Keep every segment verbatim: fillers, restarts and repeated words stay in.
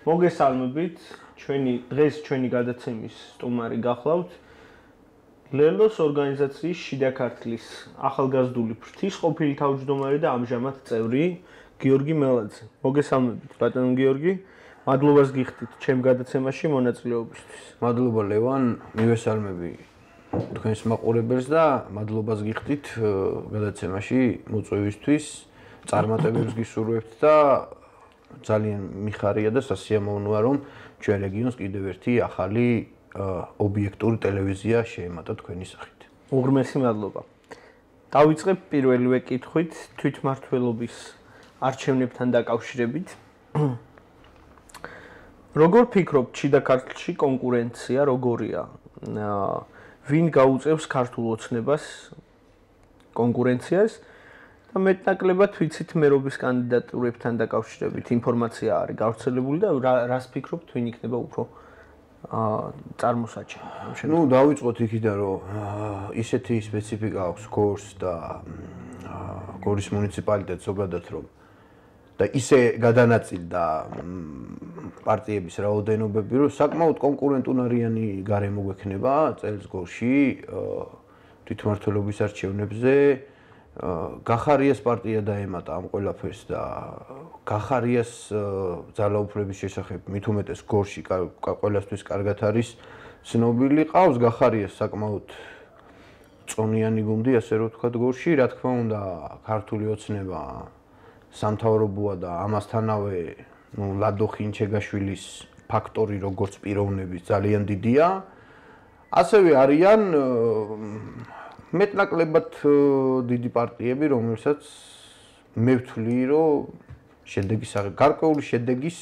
მოგესალმებით, ჩვენი დღეს ჩვენი გადაცემის სტუმარი გახლავთ ლელოს ორგანიზაციის შიდა ქართლის ახალგაზრდული ფრთის ყოფილი თავმჯდომარე და ამჟამად წევრი გიორგი მელაძე. მოგესალმებით, ბატონო გიორგი, მადლობას გიხდით ჩემ გადაცემაში მონაწილეობისთვის. მადლობა ლევან, მივესალმები თქვენს მაყურებელს და მადლობას გიხდით გადაცემაში მოწვევისთვის, წარმატებებს გისურვებთ და ძალიან მიხარია და სასიამოვნოა რომ ჩვენ რეგიონს კიდევ ერთი ახალი ობიექტური ტელევიზია შეემატა თქვენი სახით. უღრმესი მადლობა. დავიწყებ პირველივე კითხვით თვითმმართველობის არჩევნებთან დაკავშირებით. როგორ ფიქრობთ, შიდა ქართლში კონკურენცია როგორია? ვინ გაუწევს ქართულ ოცნებას კონკურენციას? და მეტნაკლებად ვიცით მერობის კანდიდატურებთან დაკავშირებით ინფორმაცია არის გავრცელებული და რას ფიქრობთ, ვინ იქნება უფრო წარმოსაჩენი? ნუ დავიწყოთ იქიდან, რომ ისეთი სპეციფიკა აქვს გორს და გორის მუნიციპალიტეტს ზოგადად რომ და ისე გადანაწილდა პარტიების რაოდენობები, რომ საკმაოდ კონკურენტუნარიანი გარემო გვექნება წელს გორში თვითმმართველობის არჩევნებზე. გახარიას პარტია დაემატა ამ ყველაფერს და გახარიას ძალაუფლების შესახებ მით უმეტეს გორში ყველასთვის კარგად არის ცნობილი. ყავს გახარიას საკმაოდ წონიანი გუნდი, ასე რომ ვთქვათ გორში. რა თქმა უნდა, ქართული ოცნება სამთავრობოა და ამასთანავე ნუ ლადო ხინჩეგაშვილის ფაქტორი როგორც პიროვნების ძალიან დიდია. ასევე არიან მეტნაკლებად დიდი პარტიები, რომელსაც მე ვთვლი, რომ შედეგის გარკვეული შედეგის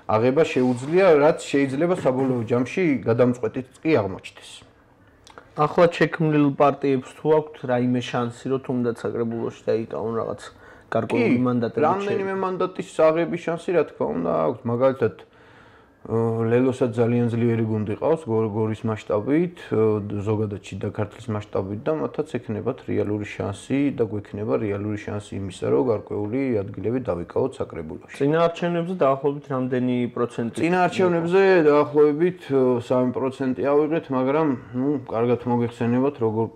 აღება შეუძლია, რაც შეიძლება საბოლოო ჯამში გადამწყვეტიც კი აღმოჩნდეს. ახლად შექმნილ პარტიებს თუ აქვთ რაიმე შანსი, რომ თუნდაც საკრებულოში დაიკავონ რაღაც გარკვეული მანდატები? რამდენიმე მანდატის აღების შანსი, რა თქმა უნდა, აქვთ. მაგალითად ლელოსაც ძალიან ძლიერი გუნდი ყავს გორის მასშტაბით, ზოგადად შიდა ქართლის მასშტაბით და მათაც ექნებათ რეალური შანსი და გვექნება რეალური შანსი იმისა, რომ გარკვეული ადგილები დავიკავოთ საკრებულოში. წინა არჩევნებზე დაახლოებით რამდენი პროცენტი? წინა არჩევნებზე დაახლოებით სამი პროცენტი ავიღეთ, მაგრამ ნუ კარგად მოგეხსენებათ, როგორ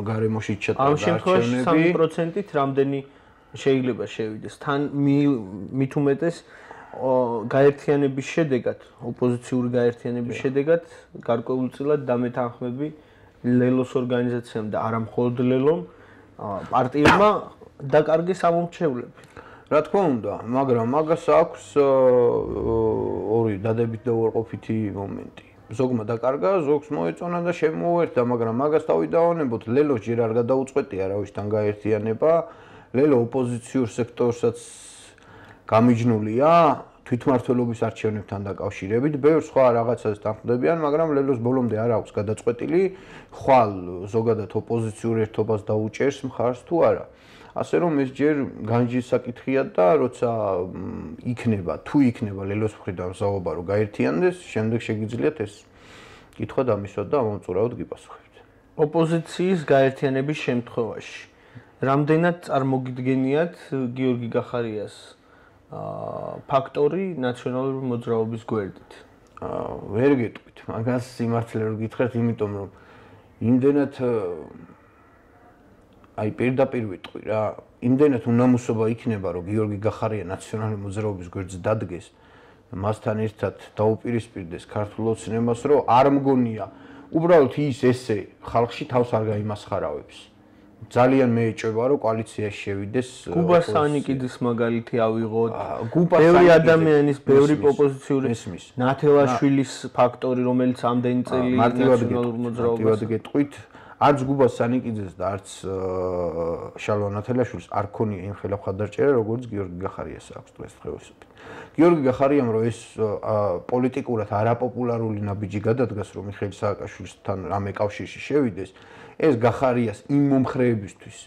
გარემოში ჩატარდა არჩევნები. ამ შემთხვევაში სამი პროცენტით რამდენი შეიძლება შევიდეს? თან მით უმეტეს გაერთიანების შედეგად, ოპოზიციური გაერთიანების შედეგად გარკვეულწილად დამეთანხმები ლელოს ორგანიზაციამ და არა მხოლოდ ლელომ პარტიებმა დაკარგეს ამომრჩევლები. რა თქმა უნდა, მაგრამ მაგას აქვს ორი დადებით და უარყოფითი მომენტი. ზოგმა დაკარგა, ზოგს მოეწონა და შემოუერთდა, მაგრამ მაგას დავიდაონებოთ, ლელოს ჯერ არ გადაუწყვეტია არავისთან გაერთიანება. ლელო ოპოზიციურ სექტორსაც გამიჯნულია თვითმმართველობის არჩევნებთან დაკავშირებით. ბევრ სხვა რაღაცას თანხმდებიან, მაგრამ ლელოს ბოლომდე არ აქვს გადაწყვეტილი, ხვალ ზოგადად ოპოზიციურ ერთობას დაუჭერს მხარს თუ არა. ასე რომ ეს ჯერ განჯის საკითხია და როცა იქნება, თუ იქნება ლელოს მხრიდან საუბარი რომ გაერთიანდეს, შემდეგ შეგიძლიათ ეს კითხვა დამისვათ და ამომწურავად გიპასუხებთ. ოპოზიციის გაერთიანების შემთხვევაში რამდენად წარმოგიდგენიათ გიორგი გახარიას ფაქტორი ნაციონალური მოძრაობის გვერდით? ვერ გეტყვით, მაგას სიმართლე რომ გითხრათ, იმიტომ რომ იმდენად აი პირდაპირ ვიტყვი რა, იმდენად უნამუსობა იქნება, რომ გიორგი გახარია ნაციონალური მოძრაობის გვერდზე დადგეს, მასთან ერთად დაუპირისპირდეს ქართულ ოცნებას, რომ არ მგონია, უბრალოდ ის ესე ხალხში თავს არ გაიმასხარავებს. ძალიან მეეჭვება რომ კოალიციაში შევიდეს. გუბა სანიკიძის მაგალითი ავიღოთ. ბევრი ადამიანის, ბევრი ოპოზიციური ნათელაშვილის ფაქტორი, რომელიც ამდენი წელი ნაციონალურ მოძრაობას გეტყვით, არც გუბა სანიკიძეს და არც შალვა ნათელაშვილს არ ქონია იმ ხელა მხარდაჭერა, როგორც გიორგი გახარიას აქვს დღესდღეობით. გიორგი გახარიამ რომ ეს პოლიტიკურად არაპოპულარული ნაბიჯი გადადგას, რომ მიხეილ სააკაშვილთან რამე კავშირში შევიდეს, ეს გახარიას იმ მომხრეებისთვის,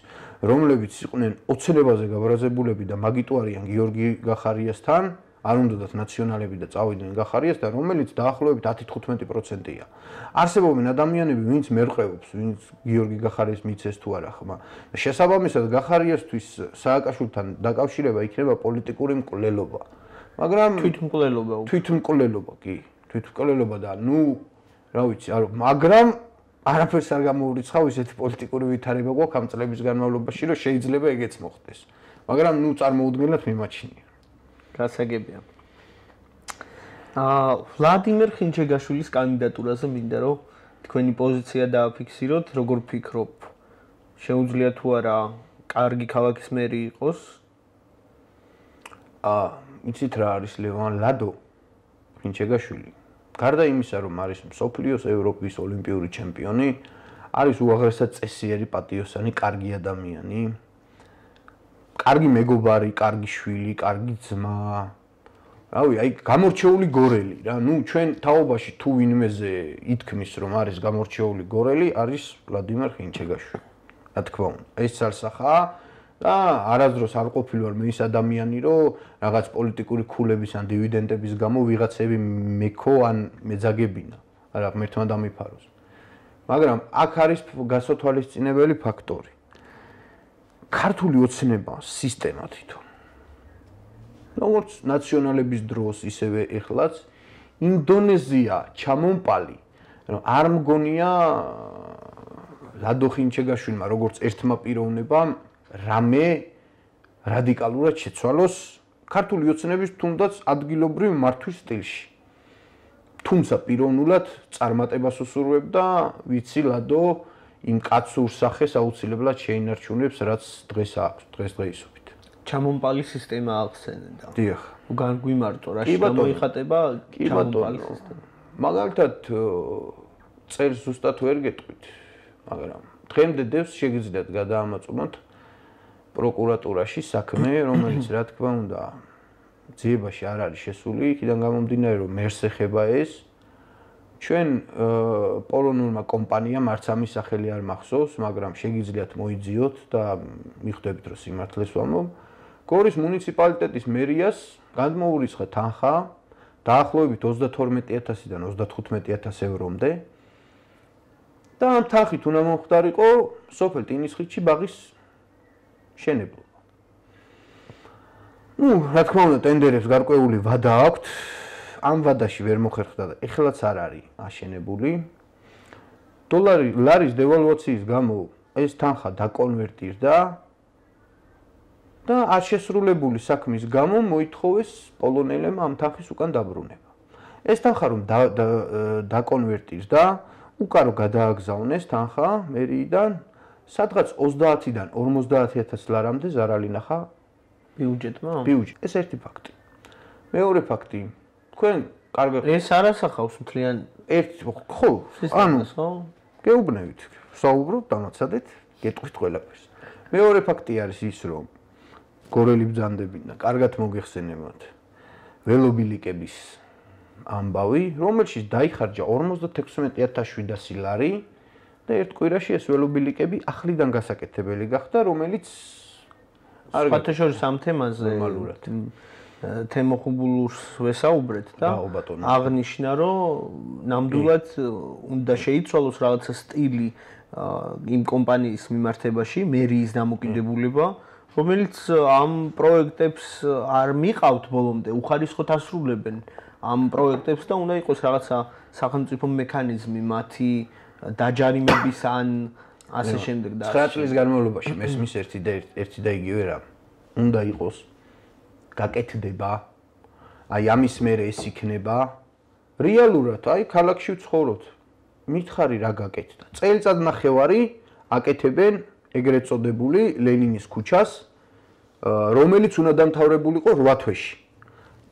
რომლებიც იყვნენ ოცნებაზე გაბრაზებულები და მაგიტუარიან გიორგი გახარიასთან, არ უნდათ ნაციონალები და წავიდნენ გახარიასთან, რომელიც დაახლოებით ათი თხუთმეტი პროცენტია. არსებობენ ადამიანები, ვინც მერყევობს, ვინც გიორგი გახარიას მიცეს თუ არა ხმა. შესაბამისად, გახარიასთვის სააკაშვილთან დაკავშირება იქნება პოლიტიკური მკვლელობა. მაგრამ თვითმკვლელობა თვითმკვლელობა კი თვითმკვლელობა და ნუ რა ვიცი არ მაგრამ არაფერს არ გამოურიცხავ ისეთი პოლიტიკური ვითარება გვაქვს ამ წლების განმავლობაში რომ შეიძლება ეგეც მოხდეს მაგრამ ნუ წარმოუდგენლად მიმაჩნია გასაგებია აა ვლადიმერ ხინჩეგაშვილის კანდიდატურაზე მინდა რომ თქვენი პოზიცია დააფიქსიროთ როგორ ფიქრობ შეუძლია თუ არა კარგი ქალაქის მერი იყოს აა იცით რა არის ლევან ლადო ხინჩეგაშვილი გარდა იმისა რომ არის მსოფლიოს ევროპის ოლიმპიური ჩემპიონი არის უაღრესად წესიერი პატიოსანი კარგი ადამიანი კარგი მეგობარი კარგი შვილი კარგი ძმა რავი აი გამორჩეული გორელი რა ნუ ჩვენ თაობაში თუ ვინმეზე ითქმის რომ არის გამორჩეული გორელი არის ვლადიმერ ხინჩეგაშვილი რა თქმა უნდა ეს ცალსახაა და არასდროს არ ყოფილი ვარ მე ის ადამიანი რომ რაღაც პოლიტიკური ქულების ან დივიდენდების გამო ვიღაცები მეკო ან მეძაგებინა არა ღმერთმა დამიფაროს მაგრამ აქ არის გასათვალისწინებელი ფაქტორი ქართული ოცნება სისტემა თვითონ როგორც ნაციონალების დროს ისევე ეხლაც ინდონეზია ჩამომპალი რომ არ მგონია ლადო ხინჩეგაშვილმა როგორც ერთმა პიროვნებამ რამე რადიკალურად შეცვალოს ქართული ოცნების თუნდაც ადგილობრივ მართვის სტილში. თუმცა პიროვნულად წარმატებას უსურვებდა, ვიცი ლადო იმ კაცურ სახეს აუცილებლად შეინარჩუნებს, რაც დღეს აქვს, დღესდღეობით. ჩამომპალი სისტემა ახსენდა. დიახ. უგან გვიმარტო, რაში გამოიხატება ჩამომპალი სისტემა. მაგალითად წერს ზუსტად ვერ გეტყვით, მაგრამ დღემდე დევს შეგიძლიათ გადაამოწმოთ პროკურატურაში საქმე, რომელიც რა თქმა უნდა ძიებაში არ არის შესული, იქიდან გამომდინარე რომ მერს ეხება ეს. ჩვენ პოლონურმა კომპანიამ არც ამის სახელი არ მახსოვს, მაგრამ შეგიძლიათ მოიძიოთ და მიხვდებით რომ სიმართლეს ვამბობ. გორის მუნიციპალიტეტის მერიას გადმოურიცხა თანხა დაახლოებით ოცდათორმეტი ათასიდან ოცდათხუთმეტი ათას ევრომდე. და ამ თანხით უნდა მომხდარიყო სოფელ ტინისხიჩი ბაღის შენებლობა. ნუ, რა თქმა უნდა, ტენდერებს გარკვეული ვადა აქვთ. ამ ვადაში ვერ მოხერხდა და ეხლაც არ არის აშენებული. დოლარი ლარის დევალვაციის გამო ეს თანხა დაკონვერტირდა და არ შესრულებული საქმის გამო მოითხოვეს პოლონელებმა ამ თანხის უკან დაბრუნება. ეს თანხა რომ დაკონვერტირდა, უკარო გადააგზავნეს თანხა მერიიდან, სადღაც ოცდაათიდან ორმოცდაათი ათას ლარამდე ზარალი ნახა ბიუჯეტმა. ბიუჯეტ. ეს ერთი ფაქტი. მეორე ფაქტი, თქვენ კარგად ეს არ ასახავს მთლიან ერთ ხო, ანუ ხო? გეუბნებით, საუბრობ დამაცადეთ, გეტყვით ყველაფერს. მეორე ფაქტი არის ის, რომ გორელი ბრძანდებინა, კარგად მოგეხსენებათ. ველობილიკების ამბავი, რომელშიც დაიხარჯა ორმოცდათექვსმეტი ათას შვიდასი ლარი და ერთ კვირაში ეს ველობილიკები ახლიდან გასაკეთებელი გახდა, რომელიც სხვათა შორის ამ თემაზე ნორმალურად თემოხუბულურს ვესაუბრეთ და აღნიშნა, რომ ნამდვილად უნდა შეიცვალოს რაღაცა სტილი იმ კომპანიის მიმართებაში, მერიის დამოკიდებულება, რომელიც ამ პროექტებს არ მიყავთ ბოლომდე, უხარისხოდ ასრულებენ ამ პროექტებს და უნდა იყოს რაღაცა სახელმწიფო მექანიზმი მათი დაჯარიმების ან ასე შემდეგ და ცხრა წლის განმავლობაში მესმის ერთი და ერთი და იგივე რამ უნდა იყოს გაკეთდება აი ამის მერე ეს იქნება რეალურად აი ქალაქში ვცხოვრობთ მითხარი რა გაკეთდა წელიწად ნახევარი აკეთებენ ეგრეთ წოდებული ლენინის ქუჩას რომელიც უნდა დამთავრებულიყო რვა თვეში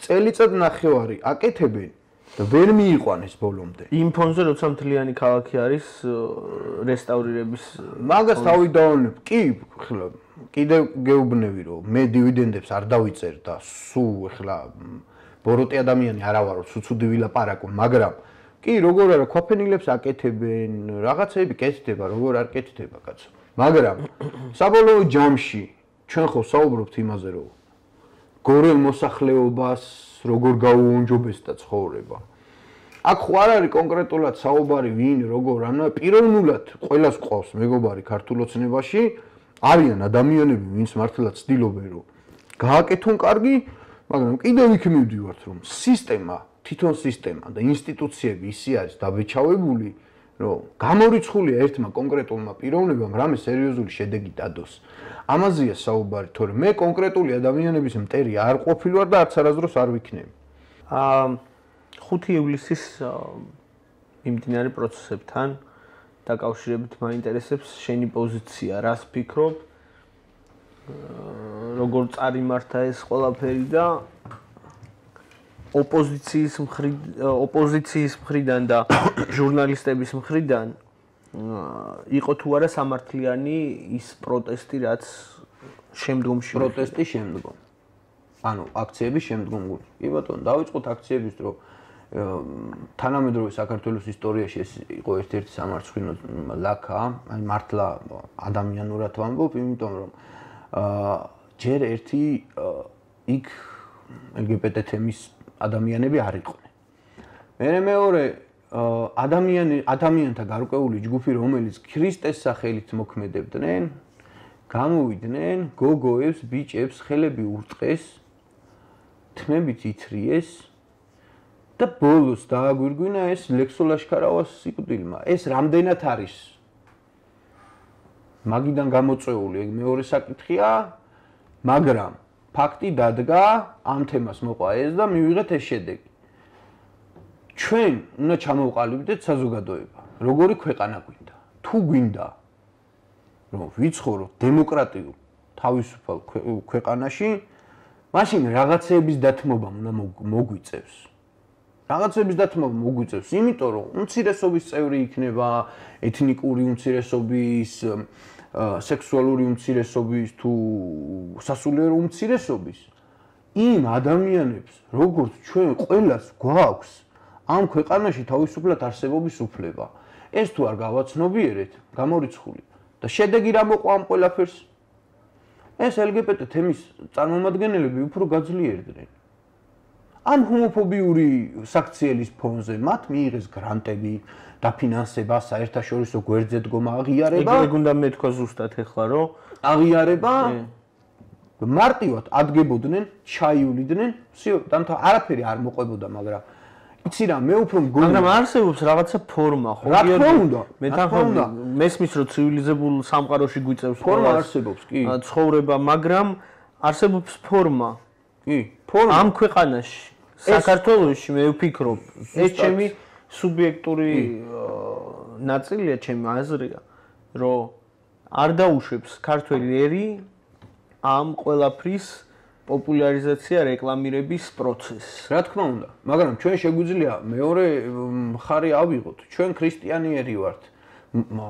წელიწად ნახევარი აკეთებენ და ვერ მიიყვანეს ბოლომდე. იმ ფონზე როცა მთლიანი ქალაქი არის რესტავრირების მაგას თავი დავანებ. კი, ხლა კიდევ გეუბნები რომ მე დივიდენდებს არ დავიწერ და სულ ხლა ბოროტი ადამიანი არა ვარო, ცუცუდი ვილაპარაკო, მაგრამ კი, როგორ არა, ქვაფენილებს აკეთებენ, რაღაცები კეთდება, როგორ არ კეთდება, კაცო. მაგრამ საბოლოო ჯამში ჩვენ ხო საუბრობთ იმაზე, რომ გორელ მოსახლეობას როგორ გაუონჯობესდა ცხოვრება. აქ ხო არ არის კონკრეტულად საუბარი ვინ, როგორ, ანა პიროვნულად ყველას ყავს მეგობარი ქართულ ოცნებაში, არიან ადამიანები, ვინც მართლაც ცდილობენ, რომ გააკეთონ კარგი მაგრამ კიდევ იქ მივდივართ, რომ სისტემა, თვითონ სისტემა და ინსტიტუციები ისე არის დაბეჭავებული, რომ გამორიცხულია ერთმა კონკრეტულმა პიროვნებამ რამე სერიოზული შედეგი დადოს. ამაზეა საუბარი, თორემ მე კონკრეტული ადამიანების მტერი არ ყოფილვარ და არც არასდროს არ ვიქნები. აა ხუთი ივლისის მიმდინარე პროცესებთან დაკავშირებით მაინტერესებს შენი პოზიცია, რას ფიქრობ? როგორ წარიმართა ეს ყველაფერი და ოპოზიციის მხრიდან ოპოზიციის მხრიდან და ჟურნალისტების მხრიდან იყო თუ არა სამართლიანი ის პროტესტი, რაც შემდგომში პროტესტი შემდგომ. ანუ აქციების შემდგომ გული. კი ბატონო, დავიწყოთ აქციების დრო თანამედროვე საქართველოს ისტორიაში ეს იყო ერთ-ერთი სამარცხვინო ლაქა, აი მართლა ადამიანურად ვამბობ, იმიტომ რომ აა ჯერ ერთი იქ ელ გი ბი ტე თემის ადამიანები არ იყვნენ. მე მეორე ადამიანი ადამიანთა გარკვეული ჯგუფი, რომელიც ქრისტეს სახელით მოქმედებდნენ, გამოვიდნენ, გოგოებს, ბიჭებს ხელები ურტყეს, თმებით ითრიეს და ბოლოს დააგვირგვინა ეს ლექსო ლაშქარავას სიკვდილმა. ეს რამდენად არის მაგიდან გამოწვეული, ეგ მეორე საკითხია, მაგრამ ფაქტი დადგა, ამ თემას მოყვა ეს და მივიღეთ ეს შედეგი. ჩვენ უნდა ჩამოვყალიბდეთ საზოგადოება. როგორი ქვეყანა გვინდა? თუ გვინდა რომ ვიცხოვროთ დემოკრატიულ თავისუფალ ქვეყანაში, მაშინ რაღაცეების დათმობა უნდა მოგვიწევს. რაღაცეების დათმობა მოგვიწევს, იმიტომ რომ უმცირესობის წევრი იქნება, ეთნიკური უმცირესობის, სექსუალური უმცირესობის თუ სასულიერო უმცირესობის, იმ ადამიანებს, როგორც ჩვენ ყველას გვაქვს ამ ქვეყანაში თავისუფლად არსებობის უფლება. ეს თუ არ გავაცნობიერეთ, გამორიცხული და შედეგი რა მოყვა ამ ყველაფერს? ეს ელ გი ბი ტე თემის წარმომადგენლები უფრო გაძლიერდნენ. ამ ჰომოფობიური საქციელის ფონზე მათ მიიღეს გრანტები, დაფინანსება, საერთაშორისო გვერდზე დგომა, აღიარება. ეგ უნდა მეთქვა ზუსტად ეხლა, რომ აღიარება მარტივად ადგებოდნენ, ჩაიულიდნენ, всё, დამთა არაფერი არ მოყვებოდა, მაგრამ იცი რა, მე უფრო მგონი, მაგრამ არსებობს რაღაცა ფორმა, ხო? რა თქმა უნდა, მე თანხმობ მესმის, რომ ცივილიზებულ სამყაროში გვიწევს ფორმა არსებობს, კი. ცხოვრება, მაგრამ არსებობს ფორმა. კი, ფორმა ამ ქვეყანაში, საქართველოში მე ვფიქრობ, ეს ჩემი სუბიექტური ნაწილია, ჩემი აზრია, რომ არ დაუშვებს ქართველი ერი ამ ყველაფრის პოპულარიზაცია, რეკლამირების პროცესს. რა თქმა უნდა, მაგრამ ჩვენ შეგვიძლია მეორე მხარე ავიღოთ. ჩვენ ქრისტიანიერი ვართ.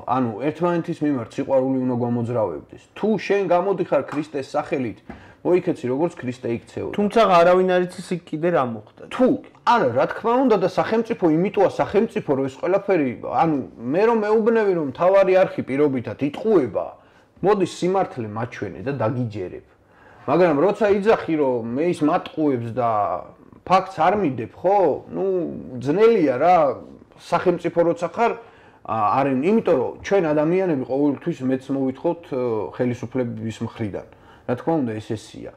ანუ ერთმანეთის მიმართ სიყვარული უნდა გამოძრავებდეს. თუ შენ გამოდიხარ ქრისტეს სახელით, მოიქეცი როგორც ქრისტე იქცეოდა. თუმცა არავინ არ იცის იქ კიდე რა მოხდა. თუ არა, რა თქმა უნდა და სახელმწიფო იმიტოა სახელმწიფო, რომ ეს ყველაფერი, ანუ მე რომ მეუბნები რომ თავარი არხი პირობითად იტყუება, მოდი სიმართლე მაჩვენე და დაგიჯერებ. მაგრამ როცა იძახი რომ მე ის მატყუებს და ფაქტს არ მიდებ, ხო? ნუ ძნელია რა, სახელმწიფო როცა ხარ, арын, იმიტომ რომ ჩვენ ადამიანები ყოველთვის მეც მოვითხოვთ ხელისუფლების მხრიდან. რა თქმა უნდა ეს ესია.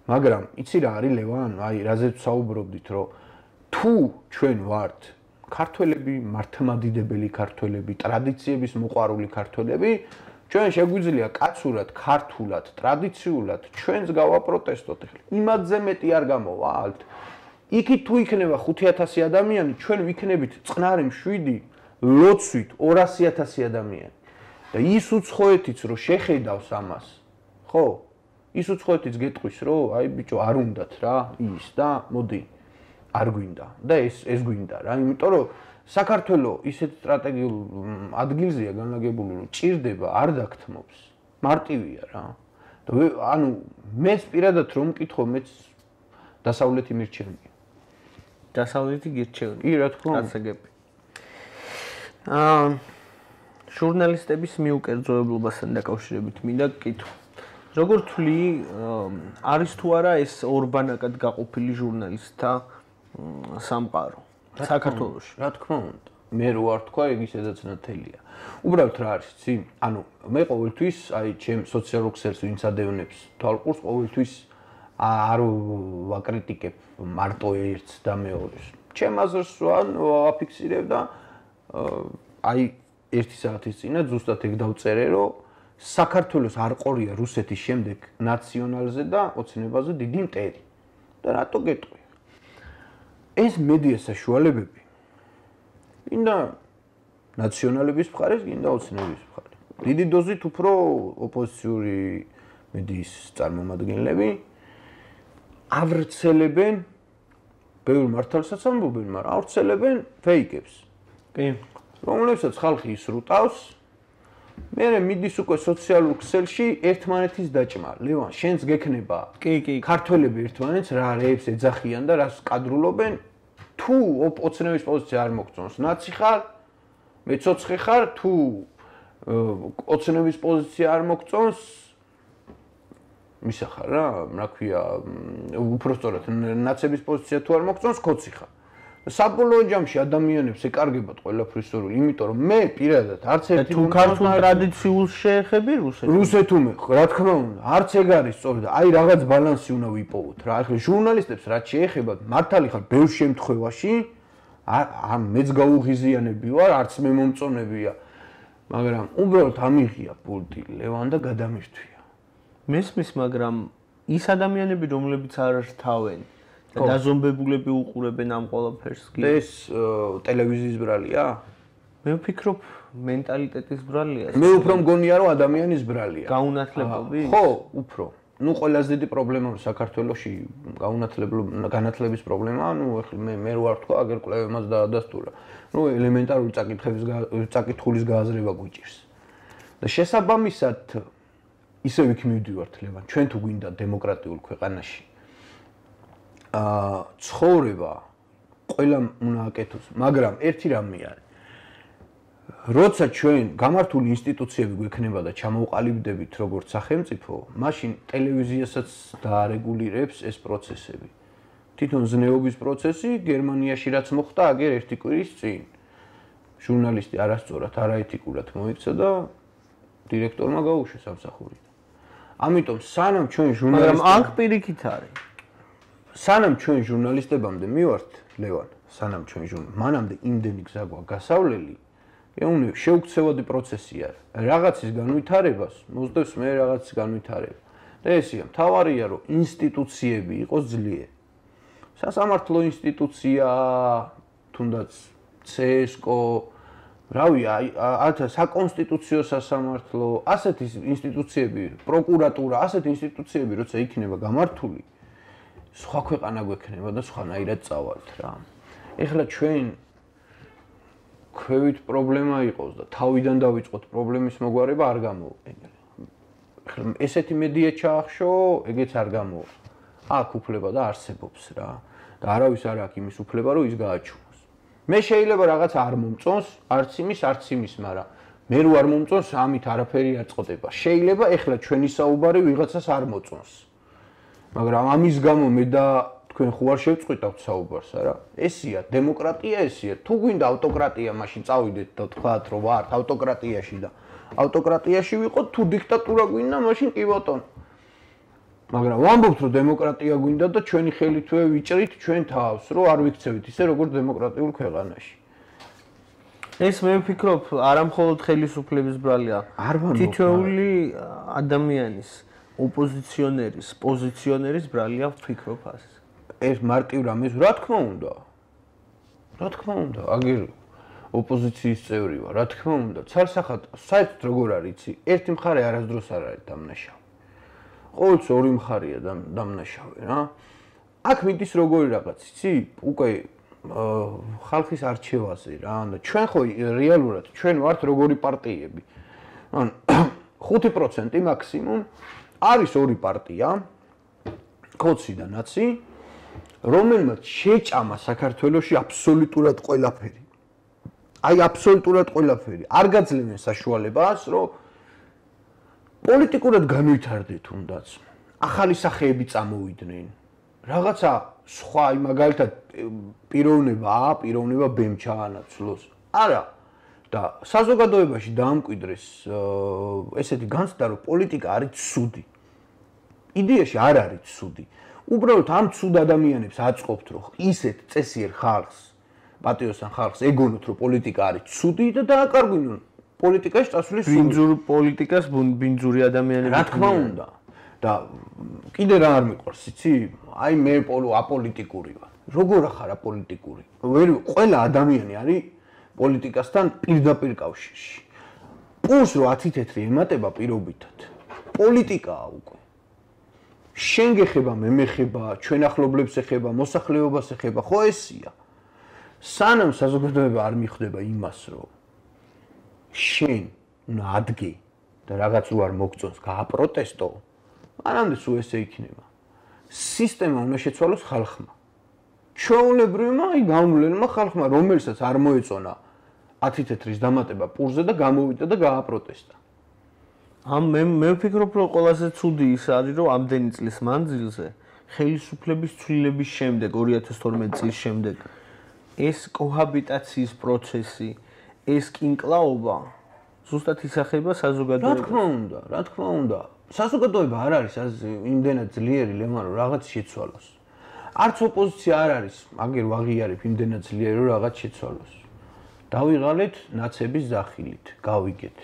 მაგრამ იცი რა არის ლევან, აი რაზეც საუბრობდით, რომ თუ ჩვენ ვართ ქართველები, მართლმადიდებელი ქართველები, ტრადიციების მოყვარული ქართველები, ჩვენ შეგვიძლია კაცურად, ქართულად, ტრადიციულად ჩვენს გავაპროტესტოთ. იმადზე მეტი არ გამოვალთ. იქით თუ იქნება ხუთი ათასი ადამიანი, ჩვენ ვიქნებით წყნარი მშვიდი, ლოცვით ორასი ათასი ადამიანი. და ის უცხოეთიც რომ შეხედავს ამას, ხო? ის უცხოეთიც გეტყვის, რომ აი ბიჭო, არ უნდათ რა, ის და მოდი, არ გვინდა. და ეს ეს გვინდა რა, იმიტომ რომ საქართველოს ისეთ სტრატეგიულ ადგილზეა განლაგებული, რომ ჭირდება, არ დაგთმობს. მარტივია რა. და ანუ მეც პირადად რომ მკითხო, მეც დასავლეთი მირჩევნია. დასავლეთი გირჩევნია. კი, რა თქმა უნდა. გასაგები. აა ჟურნალისტების მიუკერძოებლობასთან დაკავშირებით მინდა გკითხო. როგორ თვლი, არის თუ არა ეს ორბანაკად გაყოფილი ჟურნალისტთა სამყარო საქართველოში? რა თქმა უნდა. მე რო არ თქვა, ეგ ისედაც ნათელია. უბრალოდ რა არის, ცი? ანუ მე ყოველთვის, აი, ჩემ სოციალურ ქსელს ვინც ადევნებს თვალყურს, ყოველთვის არ ვაკრიტიკებ მარტო ერთს და მეორეს. ჩემ აზრს ვან ვაფიქსირებ და აი ერთი საათის წინა ზუსტად ეგ დავწერე, რომ საქართველოს არ ყორია რუსეთის შემდეგ ნაციონალზე და ოცნებაზე დიდი მტერი. და რატო გეტყვი? ეს მედია საშუალებები გინდა ნაციონალების მხარეს, გინდა ოცნების მხარეს. დიდი დოზით უფრო ოპოზიციური მედიის წარმომადგენლები ავრცელებენ ბევრ მართალსაც ამბობენ, მაგრამ ავრცელებენ ფეიკებს. კი. რომლებსაც ხალხი ისრუტავს, მერე მიდის უკვე სოციალურ ქსელში ერთმანეთის დაჭმა. ლევან, შენც გექნება კი, კი. ქართველები ერთმანეთს რა რეებს ეძახიან და რას კადრულობენ, თუ ოცნების პოზიცია არ მოგწონს, ნაცი ხარ, მეცოცხე ხარ, თუ ოცნების პოზიცია არ მოგწონს, მისახარ რა, რა ქვია, უпростоრად ნაცების პოზიცია თუ არ მოგწონს, ქოცი ხარ. საბოლოო ჯამში ადამიანებს ეკარგებათ ყველაფრის სურვილი, იმიტომ რომ მე პირადად არც ერთი თუ ქართულ ტრადიციულს შეეხები რუსეთს. რუსეთს უმე, რა თქმა უნდა, არც ეგ არის სწორად. აი რაღაც ბალანსი უნდა ვიპოვოთ რა. ახლა ჟურნალისტებს რაც შეეხება, მართალი ხარ ბევრ შემთხვევაში, არ მეც გაუღიზიანები ვარ, არც მე მომწონებია, მაგრამ უბრალოდ ამიღია პულტი ლევან და გადამირთვია. მესმის, მაგრამ ის ადამიანები, რომლებიც არ რთავენ და დაზომბებულები უყურებენ ამ ყველაფერს კი. ეს ტელევიზიის ბრალია? მე ვფიქრობ მენტალიტეტის ბრალია. მე უფრო მგონია რომ ადამიანის ბრალია. გაუნათლებობი? ხო, უფრო. ნუ ყველაზე დიდი პრობლემა საქართველოში განათლების პრობლემაა, ნუ ახლა მე მე ვარ თქვა, აგერ კვლევებმაც დაადასტურა. ნუ ელემენტარული წაკითხების წაკითხulis გააზრება გვიჭირს. და შესაბამისად ისევ იქ მივდივართ ლევან, ჩვენ თუ გვინდა დემოკრატიულ ქვეყანაში აა ცხოვრება ყველა უნდა აკეთოს, მაგრამ ერთი რამე არის. როცა ჩვენ გამართული ინსტიტუციები გვექნება და ჩამოვყალიბდებით როგორც სახელმწიფო, მაშინ ტელევიზიასაც დაარეგულირებს ეს პროცესები. თვითონ ზნეობის პროცესი გერმანიაში რაც მოხდა აგერ ერთი კვირის წინ. ჟურნალისტი არასწორად, არაეთიკურად მოიქცა და დირექტორმა გაუშვეს სამსახურიდან. ამიტომ სანამ ჩვენ ჟურნალისტები მაგრამ აქ პირიქით არის. სანამ ჩვენ ჟურნალისტებამდე მივართ, ლევან, სანამ ჩვენ ჟურნალ, მანამდე იმდენი გზა გვაქვს გასავლელი, ეუნე შეუქცევადი პროცესი არის. რაღაცის განვითარებას მოსდევს მე რაღაცის განვითარება. და ესია, მთავარია რომ ინსტიტუციები იყოს ძლიერი. სასამართლო ინსტიტუცია, თუნდაც ცესკო, რავი, აი საკონსტიტუციო სასამართლო, ასეთი ინსტიტუციები, პროკურატურა, ასეთი ინსტიტუციები როცა იქნება გამართული, სხვა ქვეყანა გვექნება და სხვანაირად წავალთ რა. ეხლა ჩვენ ქვევით პრობლემა იყოს და თავიდან დავიწყოთ პრობლემის მოგვარება არ გამოვიყენებ. ეხლა ესეთი მედია ჩაახშო, ეგეც არ გამოვა. აქ უფლება და არსებობს რა. და არავის არ აქვს იმის უფლება, რომ ის გააჩუმოს. მე შეიძლება რაღაც არ მომწონს, არც იმის, არც იმის, მაგრამ მე რო არ მომწონს, ამით არაფერი არ წყვეტება. შეიძლება ეხლა ჩვენი საუბარი ვიღაცას არ მოწონს. მაგრამ ამის გამო მე და თქვენ ხო არ შევწყვიტავთ საუბარს, არა? ესია დემოკრატია, ესია. თუ გვინდა ავტოკრატია, მაშინ წავიდეთ და თქვათ, რომ ვართ ავტოკრატიაში და ავტოკრატიაში ვიყოთ, თუ დიქტატურა გვინდა, მაშინ კი ბატონო. მაგრამ ვამბობთ, რომ დემოკრატია გვინდა და ჩვენი ხელითვე ვიჭრით ჩვენ თავს, რომ არ ვიქცევით ისე როგორც დემოკრატიულ ქვეყანაში. ეს მე ვფიქრობ, არა მხოლოდ ხელისუფლების ბრალია. თითოეული ადამიანის ოპოზიციონერის, პოზიციონერის ბრალია ვფიქრობ ასე. ეს მარტივ რამეს რა თქმა უნდა. რა თქმა უნდა, აგერ ოპოზიციის წევრი ვარ, რა თქმა უნდა, ცალსახად საერთოდ როგორ არის იცი, ერთი მხარე არასდროს არ არის დამნაშავე. ყოველთვის ორი მხარეა დამნაშავე რა. აქ მიდის როგორი რაღაც, იცი, უკვე ხალხის არჩევაზე რა, და ჩვენ ხო რეალურად ჩვენ ვართ როგორი პარტიები. ან ხუთი პროცენტი მაქსიმუმ არის ორი პარტია, ქოცი და ნაცი, რომელმაც შეჭამა საქართველოში აბსოლუტურად ყველაფერი. აი აბსოლუტურად ყველაფერი. არ გაძლევენ საშუალებას, რომ პოლიტიკურად განვითარდეთ თუნდაც. ახალი სახეები წამოვიდნენ. რაღაცა სხვა, აი მაგალითად პიროვნება A, პიროვნება B-მ ჩაანაცვლოს. არა. და საზოგადოებაში დაამკვიდრეს ესეთი განცდა, რომ პოლიტიკა არის ცუდი. იდეაში არ არის ცუდი. უბრალოდ ამ ცუდ ადამიანებს აწყობთ, რომ ისეთ წესიერ ხალხს, პატრიოტიან ხალხს ეგონოთ, რომ პოლიტიკა არის ცუდი და დააკარგვინონ პოლიტიკაში წასვლის სურვილი. ბინძურ პოლიტიკას ბინძური ადამიანები. რა თქმა უნდა. და კიდე რა არ მიყვარს, იცი? აი მე აპოლიტიკური ვარ. როგორ ახარ აპოლიტიკური? ვერ ყველა ადამიანი არის პოლიტიკასთან პირდაპირ კავშირში. პულს რო ათი თეთრი ემატება პირობითად. პოლიტიკაა უკვე. შენ გეხება, მე მეხება, ჩვენ ახლობლებს ეხება, მოსახლეობას ეხება, ხო ესია. სანამ საზოგადოება არ მიხვდება იმას, რომ შენ უნდა ადგე და რაღაც რო არ მოგწონს, გააპროტესტო, მანამდე სულ ესე იქნება. სისტემა უნდა შეცვალოს ხალხმა. ჩვეულებრივმა, აი განვლენმა ხალხმა, რომელსაც არ მოეწონა ათი თეთრის დამატება პურზე და გამოვიდა და გააპროტესტა. ამ მე მე ვფიქრობ, რომ ყველაზე ცუდი ის არის, რომ ამდენი წლის მანძილზე ხელისუფლების ცვლილების შემდეგ, ორი ათას თორმეტი წლის შემდეგ, ეს კოჰაბიტაციის პროცესი, ეს კინკლაობა ზუსტად ისახება საზოგადოებას. რა თქმა უნდა, რა თქმა უნდა. საზოგადოება არ არის იმდენად ძლიერი ლემა, რომ რაღაც შეცვალოს. არც ოპოზიცია არ არის, აგერ ვაღიარებ იმდენად ძლიერი, რომ რაღაც შეცვალოს. დავიღალეთ ნაცების ზახილით, გავიგეთ.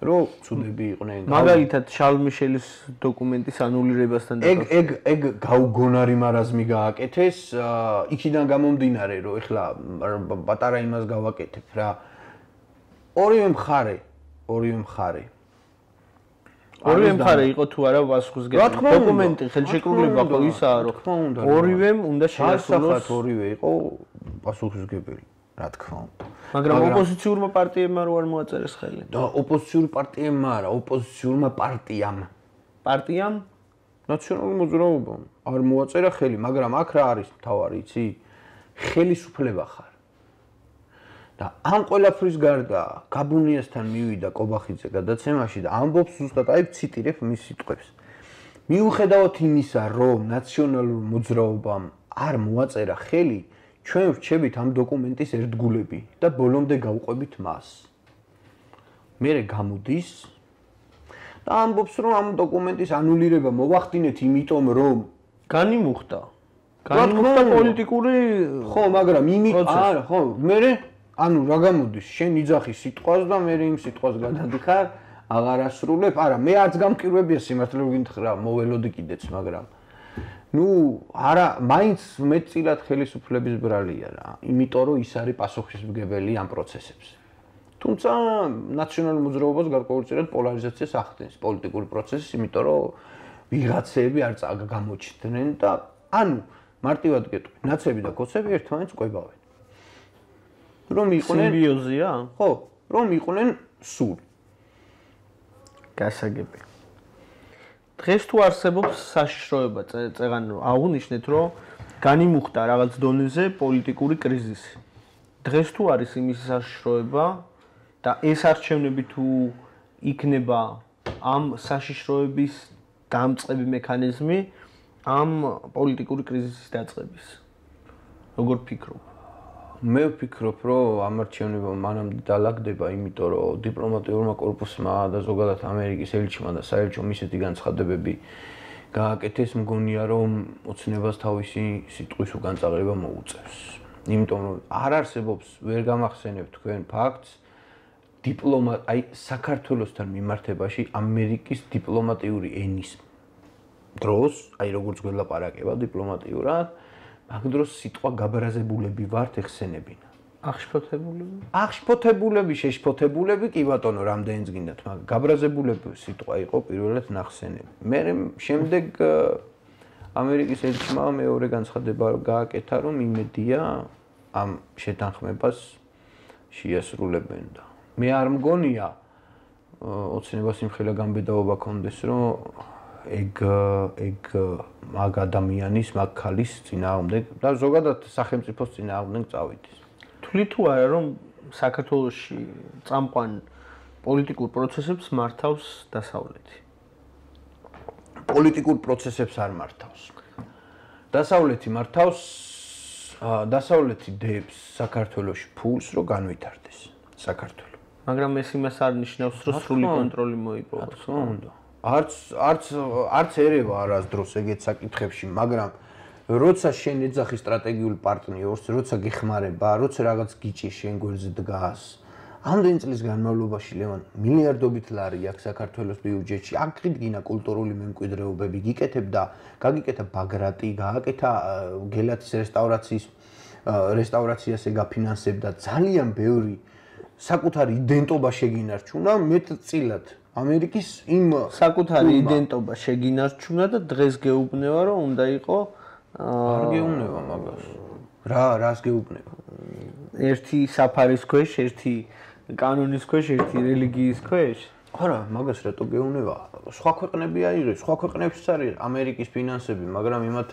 რომ ცუდები იყვნენ. მაგალითად, შარლ მიშელის დოკუმენტის ანულირებასთან დაკავშირებით. ეგ ეგ ეგ გაუგონარი მარაზმი გააკეთეს, იქიდან გამომდინარე, რომ ეხლა პატარა იმას გავაკეთებ რა. ორივე მხარე, ორივე მხარე. ორივე მხარე იყო თუ არა პასუხისმგებელი. დოკუმენტი ხელშეკრულება ხო ისაა, რომ ორივემ უნდა შეასრულოს. ორივე იყო პასუხისმგებელი, რა თქმა უნდა. მაგრამ ოპოზიციურმა პარტიებმა რო არ მოაწერეს ხელი. და ოპოზიციურ პარტიებმა არა, ოპოზიციურმა პარტიამ. პარტიამ? ნაციონალური მოძრაობამ არ მოაწერა ხელი, მაგრამ აქ რა არის მთავარი, იცი? ხელისუფლება ხარ. და ამ ყველაფრის გარდა გაბუნიასთან მივიდა კობახიძე გადაცემაში და ამბობს ზუსტად, აი ვციტირებ მის სიტყვებს. მიუხედავად იმისა, რომ ნაციონალურ მოძრაობამ არ მოაწერა ხელი, ჩვენ ვრჩებით ამ დოკუმენტის ერთგულები და ბოლომდე გავყვებით მას. მერე გამოდის და ამბობს, რომ ამ დოკუმენტის ანულირება მოვახდინეთ, იმიტომ რომ განიმუხტა. განიმუხტა პოლიტიკური ხო, მაგრამ იმით არა, ხო, მერე ანუ რა გამოდის, შენ იძახი სიტყვას და მე იმ სიტყვას გადადიხარ, აღარ ასრულებ. არა, მე არც გამკირვებია სიმართლე გითხრა, მოველოდი კიდეც, მაგრამ ნუ არა, მაინც მეტწილად ხელისუფლების ბრალია რა, იმიტომ რომ ის არის პასუხისმგებელი ამ პროცესებზე. თუმცა ნაციონალურ მოძრაობას გარკვეულწილად პოლარიზაციას ახდენს პოლიტიკური პროცესი, იმიტომ რომ ვიღაცები არ წაგამოჩნდნენ და ანუ მარტივად გეტყვი, ნაცები და კოცები ერთმანეთს ყვებავენ. რომ იყვნენ სიმბიოზია? ხო, რომ იყვნენ სულ. გასაგები. დღეს თუ არსებობს საშიშროება, წეგან აღუნიშნეთ, რომ განიმუხტა რაღაც დონეზე პოლიტიკური კრიზისი. დღეს თუ არის იმის საშიშროება და ეს არჩევნები თუ იქნება ამ საშიშროების დამწყები მექანიზმი ამ პოლიტიკური კრიზისის დაწყების. როგორ ფიქრობ? მე ვფიქრობ, რომ ამ არჩევნებმა მანამდე დალაგდება, იმიტომ რომ დიპლომატიურმა კორპუსმა და ზოგადად ამერიკის ელჩმა და საელჩომ ისეთი განცხადებები გააკეთეს, მგონია რომ ოცნებას თავისი სიტყვის უკან წაღრება მოუწევს. იმიტომ რომ არ არსებობს, ვერ გამახსენებ თქვენ ფაქტს, დიპლომატ, აი საქართველოსთან მიმართებაში ამერიკის დიპლომატიური ენის დროს, აი როგორც გველაპარაკება დიპლომატიურად, მაგ დროს სიტყვა გაბრაზებულები ვართ ეხსენებინა. აღშფოთებულები? აღშფოთებულები, შეშფოთებულები, კი ბატონო, რამდენიც გინდათ, მაგრამ გაბრაზებულები სიტყვა იყო პირველად ნახსენები. მე შემდეგ ამერიკის ელჩმა მეორე განცხადება გააკეთა, რომ იმედია ამ შეთანხმებას შეასრულებენ და მე არ მგონია ოცნებას იმხელა გამბედაობა კონდეს, რომ ეგ ეგ მაგ ადამიანის, მაგ ქალის წინააღმდეგ და ზოგადად სახელმწიფოს წინააღმდეგ წავიდეს. თვლი თუ არა, რომ საქართველოში წამყვან პოლიტიკურ პროცესებს მართავს დასავლეთი? პოლიტიკურ პროცესებს არ მართავს. დასავლეთი მართავს, დასავლეთი დებს საქართველოში ფულს, რომ განვითარდეს საქართველო. მაგრამ ეს იმას არ ნიშნავს, რომ სრული კონტროლი მოიპოვოს. რა თქმა უნდა. არც არც არც ერევა არასდროს ეგეთ საკითხებში, მაგრამ როცა შენ ეძახი სტრატეგიული პარტნიორს, როცა გეხმარება, როცა რაღაც გიჭი შენ გვერდზე დგას, ამდენი წლის განმავლობაში ლევან მილიარდობით ლარი აქვს საქართველოს ბიუჯეტში, აქ გიდგინა კულტურული მემკვიდრეობები, გიკეთებ და გაგიკეთა ბაგრატი, გააკეთა გელათის რესტავრაციის რესტავრაციას ეგაფინანსებ და ძალიან ბევრი საკუთარი იდენტობა შეგინარჩუნა მეტწილად ამერიკის იმ საკუთარი იდენტობა შეგინარჩუნა და დღეს გეუბნება რომ უნდა იყო არ გეუბნება მაგას რა რას გეუბნება ერთი საფარის ქვეშ ერთი კანონის ქვეშ ერთი რელიგიის ქვეშ არა მაგას რატო გეუბნება სხვა ქვეყნები აიღეს სხვა ქვეყნებშიც არის ამერიკის ფინანსები მაგრამ იმათ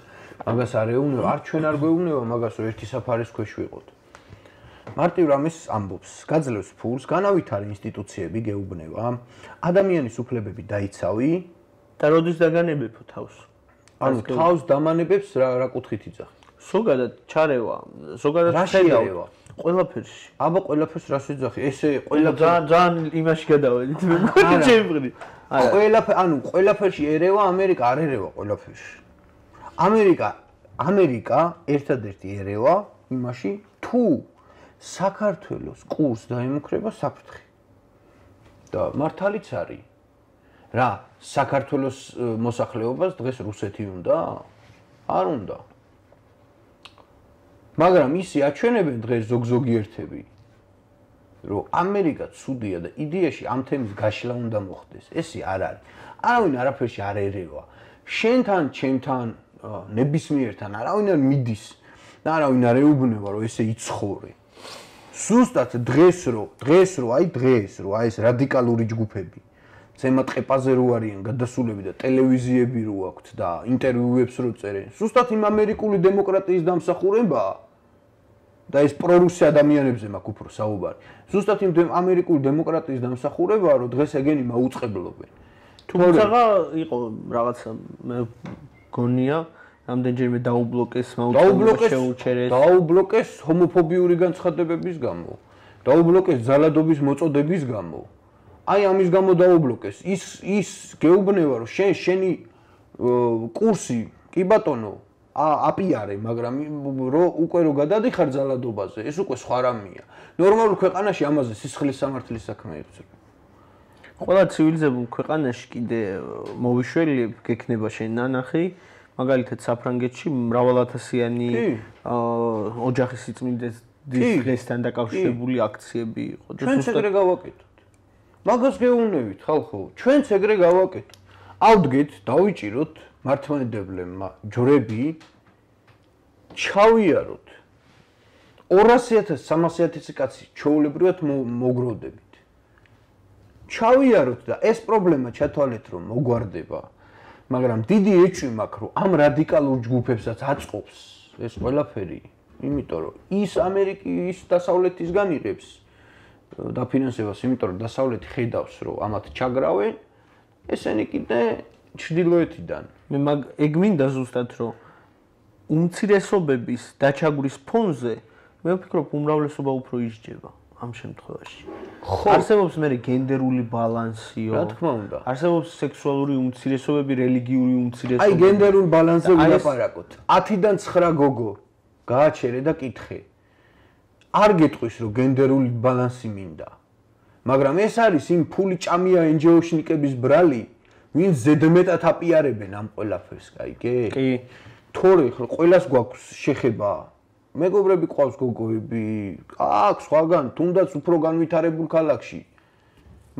მაგას არ ეუბნება არ ჩვენ არ გვეუბნება მაგას რომ ერთი საფარის ქვეშ ვიყოთ მარტივ რამის ამბობს გაძლევს ფულს განავითარე ინსტიტუციები გეუბნება ადამიანის უფლებები დაიცავი და როდის დაგანებებო თავს ანუ თავს დამანებებს რა რა კუთხით იძახი ზოგადად ჩარევა ზოგადად ჩარევა ყველაფერში აბა ყველაფერს რას ვიძახი ესე ყველაფერს ძალიან იმაში გადავედით მე მგონი ჩემი არა ყველაფერ ანუ ყველაფერში ერევა ამერიკა არ ერევა ყველაფერში ამერიკა ამერიკა ერთადერთი ერევა იმაში თუ საქართველოს კურსს დაემუქრება საფრთხე და მართალიც არის რა საქართველოს მოსახლეობას დღეს რუსეთი უნდა არ უნდა მაგრამ ისი აჩვენებენ დღეს ზოგ-ზოგიერთები რომ ამერიკა ცუდია და იდეაში ამ თემის გაშლა უნდა მოხდეს ესე არ არის არავინ არაფერში არ ერევა შენთან ჩემთან ნებისმიერთან არავინ არ მიდის და არავინ არ ეუბნება რომ ესე იცხოვრე ზუსტად დღეს რო დღეს რო აი დღეს რო აი ეს რადიკალური ჯგუფები ზემოთ ყეპაზე რო არიან გადასულები და ტელევიზიები რო აქვთ და ინტერვიუებს რო წერენ ზუსტად იმ ამერიკული დემოკრატიის დამსახურებაა და ეს პრორუსი ადამიანებზე მაქვს უფრო საუბარი ზუსტად იმ ამერიკული დემოკრატიის დამსახურებაა რომ დღეს ეგენი მაუწყებლობენ თუმცა იყო რაღაცა მე გონია ამდენჯერმე დაუბლოკეს მაუწყებლობა შეუჩერეს დაუბლოკეს ჰომოფობიური განცხადებების გამო დაუბლოკეს ძალადობის მოწოდების გამო აი ამის გამო დაუბლოკეს ის ის გეუბნება რომ შენ შენი კურსი კი ბატონო აპიარე მაგრამ რო უკვე რო გადადიხარ ძალადობაზე ეს უკვე სხვა რამეა ნორმალურ ქვეყანაში ამაზე სისხლის სამართლის საქმე იწევს ყველა ცივილიზებულ ქვეყანაში კიდე მოვიშველი გექნება შენ ნანახი მაგალითად საფრანგეთში მრავალათასიანი ოჯახის სიწმინდეს დღესთან დაკავშირებული აქციები იყო და ჩვენ ეგრე გავაკეთოთ მაგას გეუბნებით ხალხო ჩვენც ეგრე გავაკეთოთ ავდგეთ დავიჭიროთ მართლმადიდებლებმა ჯვრები ჩავიაროთ ორასი ათასი სამასი ათასი კაცი ჩვეულებრივად მოგროვდებით ჩავიაროთ და ეს პრობლემა ჩათვალეთ რომ მოგვარდება მაგრამ დიდი ეჭვი მაქვს რომ ამ რადიკალურ ჯგუფებსაც აწყობს ეს ყველაფერი იმიტომ რომ ის ამერიკის დასავლეთისგან იღებს დაფინანსებას იმიტომ რომ დასავლეთი ხედავს რომ ამათ ჩაგრავენ ესენი კიდე ჩრდილოეთიდან მე მაგ ეგ მინდა ზუსტად რომ უმცირესობების დაჩაგვრის ფონზე მე ვფიქრობ უმრავლესობა უფრო ისჯება ამ შემთხვევაში არსებობს მე გენდერული ბალანსიო რა თქმა უნდა არსებობს სექსუალური უმცირესობები რელიგიური უმცირესობები აი გენდერულ ბალანსზე ვილაპარაკოთ ათიდან ცხრა გოგო გააჩერე და კითხე არ გეტყვის რომ გენდერული ბალანსი მინდა მაგრამ ეს არის იმ ფული ჭამია ენჯეოშნიკების ბრალი ვინც ზედმეტად აპიარებენ ამ ყველაფერს კაიგე კი თორე ყველას გვაქვს შეხება მეგობრები ყავს გოგოები აქვს სხვაგან თუნდაც უფრო განვითარებულ ქალაქში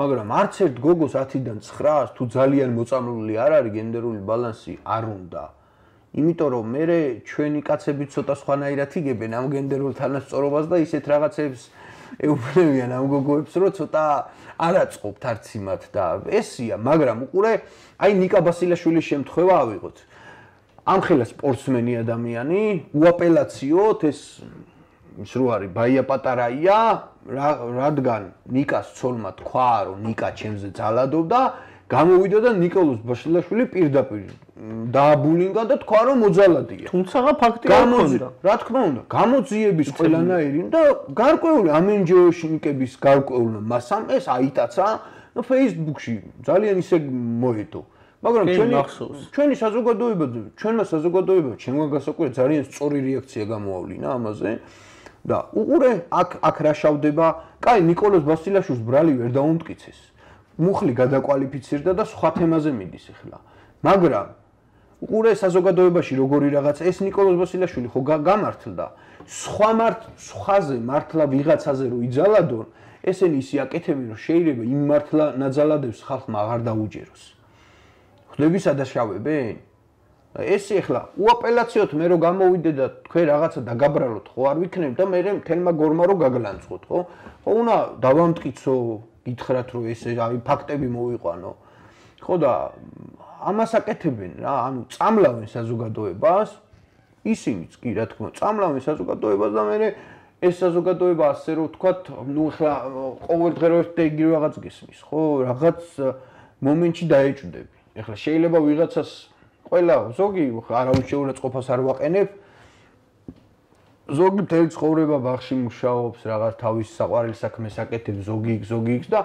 მაგრამ არც ერთ გოგოს ათიდან ცხრას თუ ძალიან მოწამლული არ არის გენდერული ბალანსი არ უნდა იმიტომ რომ მე ჩვენი კაცები ცოტა სხვანაირად იგებენ ამ გენდერულ თანასწორობას და ისეთ რაღაცებს ეუბნებიან ამ გოგოებს რომ ცოტა არ აწყობთ არც იმათ და ესია მაგრამ უყურე აი ნიკა ბასილაშვილის შემთხვევა ავიღოთ ამხელა სპორტსმენი ადამიანი უაპელაციოთ ეს ის რო არის ბაია პატარაია რადგან ნიკას ცოლმა თქვა რომ ნიკა ჩემზე ძალადობდა გამოვიდა და ნიკოლოზ ბასილაშვილი პირდაპირ დააბულინგა და თქვა რომ მოძალადია თუმცა ფაქტი არ ქონდა რა თქმა უნდა გამოძიების ყველანაირი და გარკვეული ამენჯეოშნიკების გარკვეულმა მასამ ეს აიტაცა და Facebook-ში ძალიან ისე მოედო. მაგრამ ჩვენი ჩვენი საზოგადოება, ჩვენმა საზოგადოებამ, ჩემმა გასაკვირად ძალიან სწორი რეაქცია გამოავლინა ამაზე. და უყურე აქ აქ რა შავდება, კაი نيكოლოს ბასილაშვილს ბრალი ვერ დაუმტკიცეს. მუხლი გადაკვალიფიცირდა და სხვა თემაზე მიდის ახლა. მაგრამ უყურე საზოგადოებაში როგორი რაღაცა ეს نيكოლოს ბასილაშვილი ხო გამართლდა. სხვა მართ სხვაზე მართლა ვიღაცაზე რო იძალადონ, ესენი ისე აკეთებენ რომ შეიძლება იმ მართლა ნაძალადებს ხალხმა აღარ დაუჯეროს. ხდები სადაშავებენ? ესე ახლა უაპელაციოთ მე რო გამოვიდე და თქვენ რაღაცა დაგაბრალოთ ხო არ ვიქნებ და მე მთელმა გორმა რო გაგლანწყოთ ხო? ხო უნდა დავამტკიცო, გითხრათ რომ ესე აი ფაქტები მოვიყვანო. ხო და ამას აკეთებენ რა, ანუ წამლავენ საზოგადოებას, ისინიც კი რა თქმა უნდა, წამლავენ საზოგადოებას და მე ეს საზოგადოება ასე რომ ვთქვათ, ნუ ახლა ყოველდღე რო ერთ და იგივე რაღაც გესმის, ხო? რაღაც მომენტში დაეჭვდები. ახლა შეიძლება ვიღაცას ყველა ზოგი არავის შეურაცხყოფას არ ვაყენებ. ზოგი მთელი ცხოვრება ბაღში მუშაობს, რაღაც თავის საყვარელ საქმეს აკეთებს, ზოგი იქ, ზოგი იქ და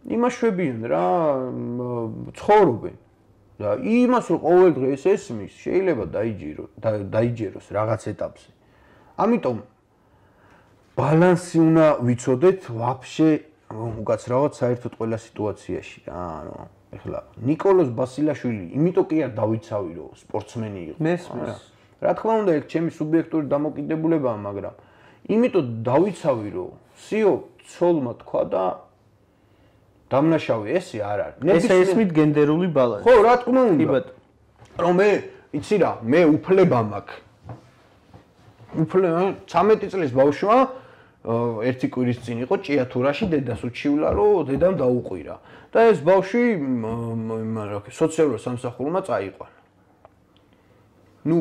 იმას შვებიან რა, ცხოვრობენ. და იმას რომ ყოველ დღე ეს ესმის, შეიძლება დაიჯერო, დაიჯეროს რაღაც ეტაპზე. ამიტომ ბალანსი უნდა ვიცოდეთ ვაფშე უკაცრავად საერთოდ ყველა სიტუაციაში რა, ანუ ეხლა نيكოლოს ბასილაშვილი იმიტომ კი არ დავიცავი რომ სპორტსმენი იყო. მესმის. რა თქმა უნდა, ეგ ჩემი სუბიექტური დამოკიდებულებაა, მაგრამ იმიტომ დავიცავი რომ სიო ცოლმა თქვა და დამნაშავე ესე არ არის. ეს ესმით გენდერული ბალანსი. ხო, რა თქმა უნდა. რომ მე, იცი რა, მე უფლება მაქვს. უფლება ცამეტი წლის ბავშვმა ერთი კვირის წინ იყო ჭიათურაში დედას უჩივლა, რომ დედამ დაუყვირა. და ეს ბავშვი მაგრამ სოციალურ სამსახურმა წაიყვანა. ნუ,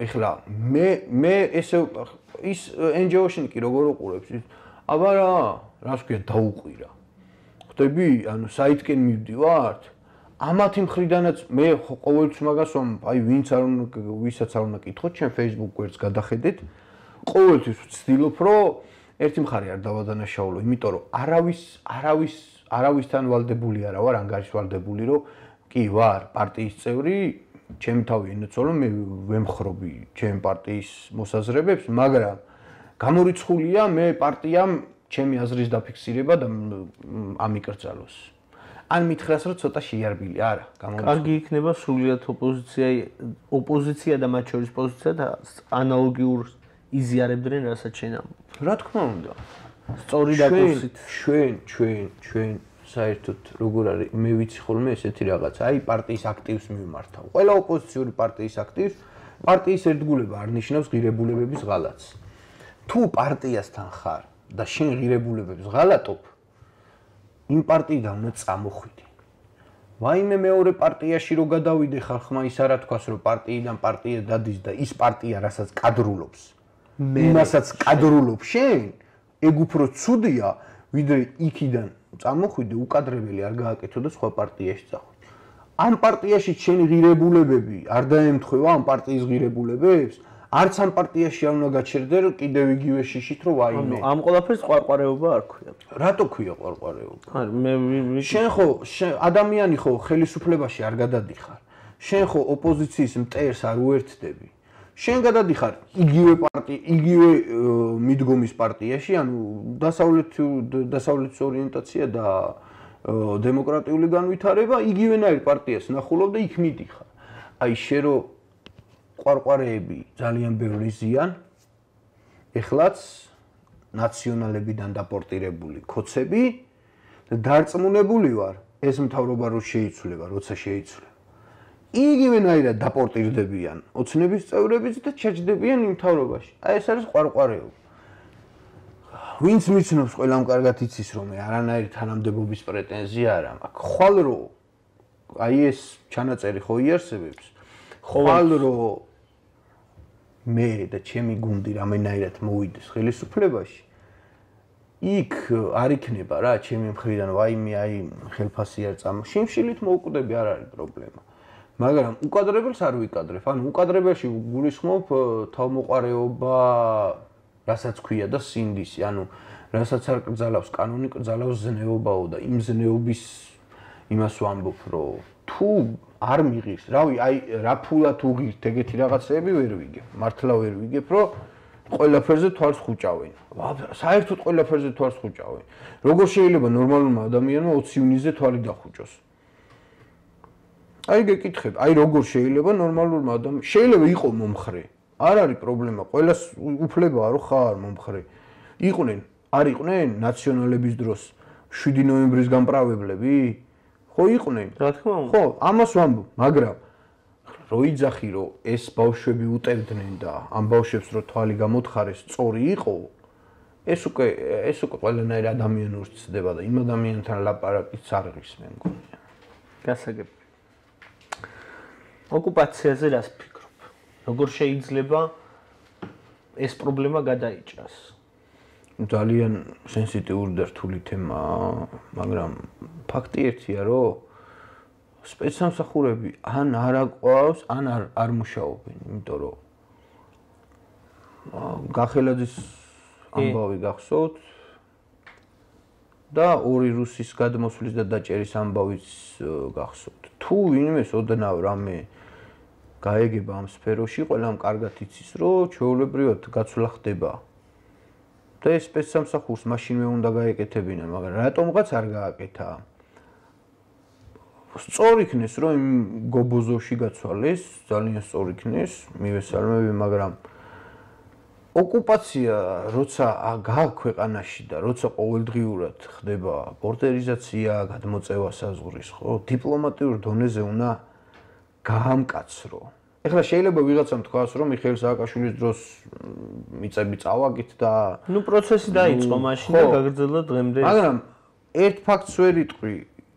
ეხლა მე მე ესე ის εν ჯი ო-შენ კი როგორ უყურებს ის? აბა რა, რას ქვია დაუყვირა. ხდები, ანუ საითკენ მივდივართ? ამათი მხრიდანაც მე ყოველთვის მაგას ვამ, აი ვინც არ უნდა ვისაც არ უნდა კითხოთ, ჩემ Facebook გვერდს გადახედეთ. ყოველთვის ვცდილობ, რომ ერთი მხარე არ დავადანაშაულო, იმიტომ რომ არავის არავის არავისთან ვალდებული არა ვარ, ანგარიშ ვალდებული, რომ კი ვარ პარტიის წევრი, ჩემი თავი ენოცო, რომ მე ვემხრობი ჩემ პარტიის მოსაზრებებს, მაგრამ გამორიცხულია მე პარტიამ ჩემი აზრის დაფიქსირება და ამიკრძალოს. ან მითხრას რომ ცოტა შეიარბილი არა, გამორიცხულია. კარგი იქნება სრულიად ოპოზიცია, ოპოზიცია და მათ შორის პოზიცია და ანალოგიურ იზიარებდნენ, რასაც შენ ამბობ. რა თქმა უნდა. სწორი დაკურსით. ჩვენ, ჩვენ, ჩვენ საერთოდ როგორ არის, მე ვიცი ხოლმე ესეთი რაღაც, აი პარტიის აქტივს მიმართავ. ყველა ოპოზიციური პარტიის აქტივს პარტიის ერთგულება არ ნიშნავს ღირებულებების ღალატს. თუ პარტიასთან ხარ და შენ ღირებულებებს ღალატობ, იმ პარტიიდან უნდა წამოხვიდე. ვაიმე მეორე პარტიაში რო გადავიდე ხალხმა ის არა თქვას რომ პარტიიდან პარტია დადის და ის პარტია რასაც კადრულობს. იმასაც კადრულობ შენ, ეგ უფრო ცუდია, ვიდრე იქიდან წამოხვიდე უკადრებელი არ გააკეთო და სხვა პარტიაში წახვიდე. ამ პარტიაში შენი ღირებულებები არ დაემთხვევა ამ პარტიის ღირებულებებს? არც ამ პარტიაში არ უნდა გაჩერდე რომ კიდევ იგივე შიშით რომ ვაიმე. ამ ყველაფერს ყვარყვარეობა არ ქვია. რატო ქვია ყვარყვარეობა? არა, მე შენ ხო ადამიანი ხო ხელისუფლებაში არ გადადიხარ. შენ ხო ოპოზიციის მტერს არ უერთდები. შენ გადადიხარ იგივე პარტია, იგივე მიდგომის პარტიაში, ანუ დასავლეთ დასავლეთის ორიენტაცია და დემოკრატიული განვითარება იგივენაირ პარტიას ნახულობ და იქ მიდიხარ. აი შენ რო ყვარყვარეები ძალიან ბევრი ზიან, ეხლაც ნაციონალებიდან დაპორტირებული ქოცები და დარწმუნებული ვარ, ეს მთავრობა რო შეიცვლება, როცა შეიცვლება. იგივენაირად დაპორტირდებიან ოცნების წევრებიც და ჩაჯდებიან იმ მთავრობაში. აი ეს არის ყვარყვარეობა. ვინც მიცნობს ყველამ კარგად იცის რომ მე არანაირი თანამდებობის პრეტენზია არ მაქვს. ხვალ რო აი ეს ჩანაწერი ხო იარსებებს, ხვალ რო მე და ჩემი გუნდი რამენაირად მოვიდეს ხელისუფლებაში, იქ არ იქნება რა ჩემი მხრიდან ვაიმე აი ხელფასი არ წამო. შიმშილით მოვკვდები არ არის პრობლემა. მაგრამ უკადრებელს არ ვიკადრებ. ანუ უკადრებელში გულისხმობ თავმოყარეობა, რასაც ქვია და სინდისი. ანუ რასაც არ კრძალავს კანონი, კრძალავს ზნეობაო და იმ ზნეობის იმას ვამბობ, რომ თუ არ მიღის, რავი, აი რა ფულად უღირთ ეგეთი რაღაცეები ვერ ვიგებ. მართლა ვერ ვიგებ, რომ ყველაფერზე თვალს ხუჭავენ. საერთოდ ყველაფერზე თვალს ხუჭავენ. როგორ შეიძლება ნორმალურმა ადამიანმა ოცი ივნისზე თვალი დახუჭოს? აი გეკითხებ, აი როგორ შეიძლება ნორმალურმა ადამიანმა შეიძლება იყოს მომხრე. არ არის პრობლემა, ყველას უფლებაა რომ ხარ მომხრე. იყვნენ, არ იყვნენ ნაციონალების დროს შვიდი ნოემბრის გამპრავლებლები? ხო იყვნენ. რა თქმა უნდა. ხო, ამას ვამბობ, მაგრამ რო იძახი რომ ეს ბავშვები უტევდნენ და ამ ბავშვებს რო თვალი გამოთხარეს სწორი იყო, ეს უკვე ეს უკვე ყველანაირ ადამიანურს ცდება და იმ ადამიანთან ლაპარაკიც არ ღირს მე მგონი. გასაგები. ოკუპაციაზე რას ფიქრობ? როგორ შეიძლება ეს პრობლემა გადაიჭრას? ძალიან სენსიტიური და რთული თემაა, მაგრამ ფაქტი ერთია, რომ სპეცსამსახურები ან არ აყვავს, ან არ არ მუშაობენ, იმიტომ რომ გახელაძის ამბავი გახსოვთ და ორი რუსის გადმოსვლის და დაჭერის ამბავიც გახსოვთ. თუ ვინმეს ოდნავ რამე გაეგება ამ სფეროში, ყველამ კარგად იცის, რომ ჩვეულებრივად გაცვლა ხდება. და ეს სპეცსამსახურს მაშინვე უნდა გაეკეთებინა, მაგრამ რატომღაც არ გააკეთა. სწორი იქნეს, რომ იმ გობოზოში გაცვალეს, ძალიან სწორი იქნეს, მივესალმები, მაგრამ ოკუპაცია, როცა გააქვს ქვეყანაში და როცა ყოველდღიურად ხდება ბორდერიზაცია, გადმოწევა საზღვრის, ხო, დიპლომატიურ დონეზე უნდა გაამკაცრო. ეხლა შეიძლება ვიღაცამ თქვას, რომ მიხეილ სააკაშვილის დროს მიწები წავაგით და ნუ პროცესი დაიწყო მაშინ და გაგრძელდა დღემდე. მაგრამ ერთ ფაქტს ვერ იტყვი,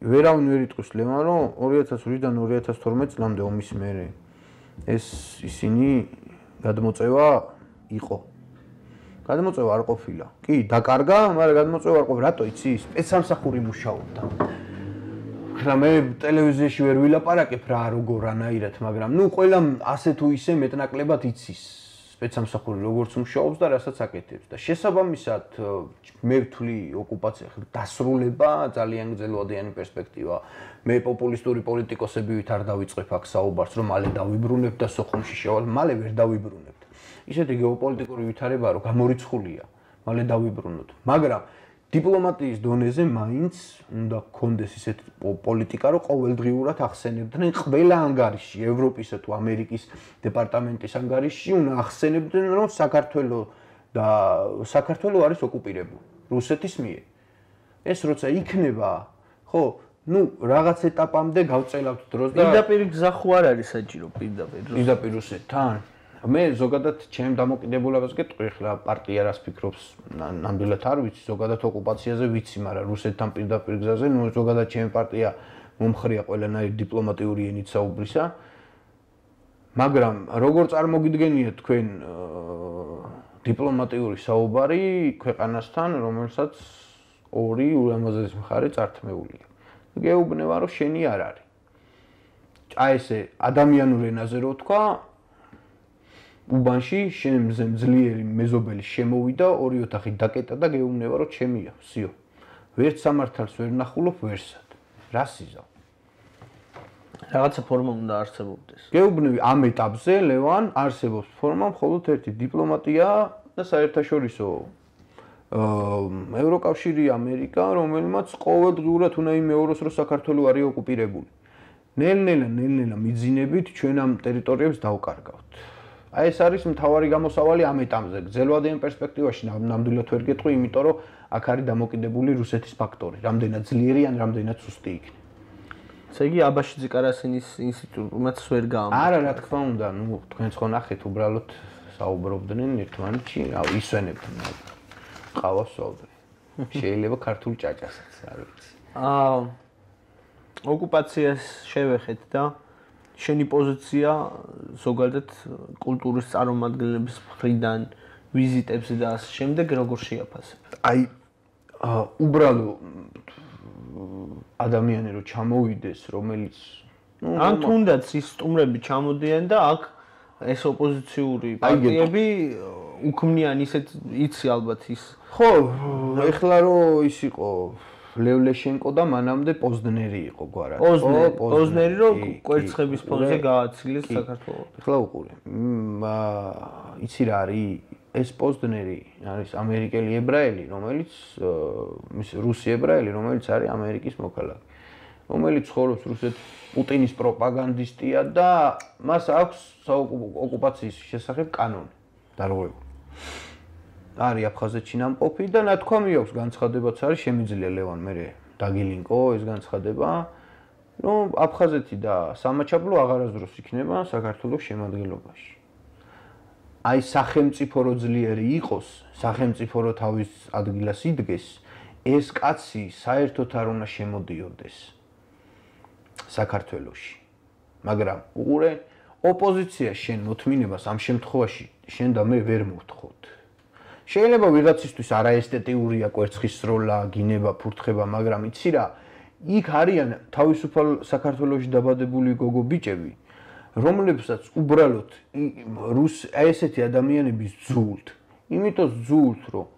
ვერავინ ვერ იტყვის ლევან, რომ ორი ათას ორი-დან ორი ათას თორმეტი წლამდე ომის მერე ეს ისინი გადმოწევა იყო. გადმოწევა არ ყოფილა. კი, დაკარგა, მაგრამ გადმოწევა არ ყოფილა. რატო იცი? სპეცსამსახური მუშაობდა. ხლა მე ტელევიზიაში ვერ ვილაპარაკებ რა როგორ რანაირად, მაგრამ ნუ ყველამ ასე თუ ისე მეტნაკლებად იცის სპეცსამსახური როგორც მუშაობს და რასაც აკეთებს და შესაბამისად მე ვთვლი ოკუპაცია ხლა დასრულება ძალიან გრძელვადიანი პერსპექტივა. მე პოპულისტური პოლიტიკოსებივით არ დავიწყებ აქ საუბარს, რომ მალე დავიბრუნებ და სოხუმში შევალ, მალე ვერ დავიბრუნებ. ისეთი გეოპოლიტიკური ვითარებაა, რომ გამორიცხულია, მალე დავიბრუნოთ. მაგრამ დიპლომატიის დონეზე მაინც უნდა გქონდეს ისეთი პოლიტიკა, რომ ყოველდღიურად ახსენებდნენ ყველა ანგარიში, ევროპისა თუ ამერიკის დეპარტამენტის ანგარიში უნდა ახსენებდნენ, რომ საქართველო და საქართველო არის ოკუპირებული რუსეთის მიერ. ეს როცა იქნება, ხო, ნუ რაღაც ეტაპამდე გავწელავთ დროს და პირდაპირ გზა ხო არ არის საჭირო პირდაპირ პირდაპირ რუსეთთან. მე ზოგადად ჩემ დამოკიდებულებას გეტყვი, ხლა პარტია რას ფიქრობს, ნამდვილად არ ვიცი, ზოგადად ოკუპაციაზე ვიცი, მაგრამ რუსეთთან პირდაპირ გზაზე, ნუ ზოგადად ჩემი პარტია მომხრეა ყველანაირ დიპლომატიური ენით საუბრისა. მაგრამ როგორ წარმოგიდგენიათ თქვენ დიპლომატიური საუბარი ქვეყანასთან, რომელსაც ორი ულამაზესი მხარე წართმეულია. გეუბნება, რომ შენი არ არის. აი ესე ადამიანურ ენაზე რო თქვა, უბანში შენ მზე მძლიერი მეზობელი შემოვიდა, ორი ოთახი დაკეტა და გეუბნება, რომ ჩემია, ვსიო. ვერც სამართალს ვერ ნახულობ, ვერსად. რა სიზავ? რაღაცა ფორმა უნდა არსებობდეს. გეუბნები ამ ეტაპზე, ლევან, არსებობს ფორმა, მხოლოდ ერთი დიპლომატია და საერთაშორისო ევროკავშირი, ამერიკა, რომელმაც ყოველდღიურად უნდა იმეოროს, რომ საქართველო არის ოკუპირებული. ნელ-ნელა, ნელ-ნელა მიძინებით ჩვენ ამ ტერიტორიებს დავკარგავთ. აი ეს არის მთავარი გამოსავალი ამ ეტაპზე. გრძელვადიან პერსპექტივაში ნამდვილად ვერ გეტყვი, იმიტომ რომ აქ არის დამოკიდებული რუსეთის ფაქტორი, რამდენად ძლიერი ან რამდენად სუსტი იქნება. ესე იგი აბაშიძე კარასინის ინსტიტუტმაც ვერ გაამართლა. არა, რა თქმა უნდა, ნუ თქვენც ხო ნახეთ, უბრალოდ საუბრობდნენ ერთმანეთში, აუ ისვენებდნენ. ყავას ვსვავდნენ. შეიძლება ქართულ ჭაჭასაც, არ ვიცი. აა ოკუპაციას შევეხეთ და შენი პოზიცია ზოგადად კულტურის წარმომადგენლების მხრიდან ვიზიტებზე და ასე შემდეგ როგორ შეაფასებ? აი უბრალო ადამიანი რო ჩამოვიდეს, რომელიც ან თუნდაც ის სტუმრები ჩამოდიან და აქ ეს ოპოზიციური პარტიები უქმნიან ისეთ იცი ალბათ ის. ხო, ეხლა რო ის იყო ლევლეშენკო და მანამდე პოზნერი იყო გვარად. პოზნერი რო კვერცხების ფონზე გააცილეს საქართველოს. ეხლა უყურე. იცი რა არის? ეს პოზნერი არის ამერიკელი ებრაელი, რომელიც ის რუსი ებრაელი, რომელიც არის ამერიკის მოქალაქე. რომელიც ცხოვრობს რუსეთის პუტინის პროპაგანდისტია და მას აქვს ოკუპაციის შესახებ კანონი დარღვეული. არის აფხაზეთში ნამყოფი და ნათქვამი აქვს განცხადებაც არის შემიძლია ლევან მერე დაგილინკო ეს განცხადება რომ აფხაზეთი და სამაჩაბლო აღარასდროს იქნება საქართველოს შემადგენლობაში. აი სახელმწიფო რო ძლიერი იყოს, სახელმწიფო რო თავის ადგილას იდგეს, ეს კაცი საერთოდ არ უნდა შემოდიოდეს საქართველოში. მაგრამ უყურე ოპოზიცია შენ მოთმინებას ამ შემთხვევაში შენ და მე ვერ მოვთხოვთ. შეიძლება ვიღაცისთვის არაესთეტიურია კვერცხის სროლა, გინება, ფურთხება, მაგრამ იცი რა, იქ არიან თავისუფალ საქართველოში დაბადებული გოგო ბიჭები, რომლებსაც უბრალოდ რუს ესეთი ადამიანების ძულთ. იმიტომ ძულთ, რომ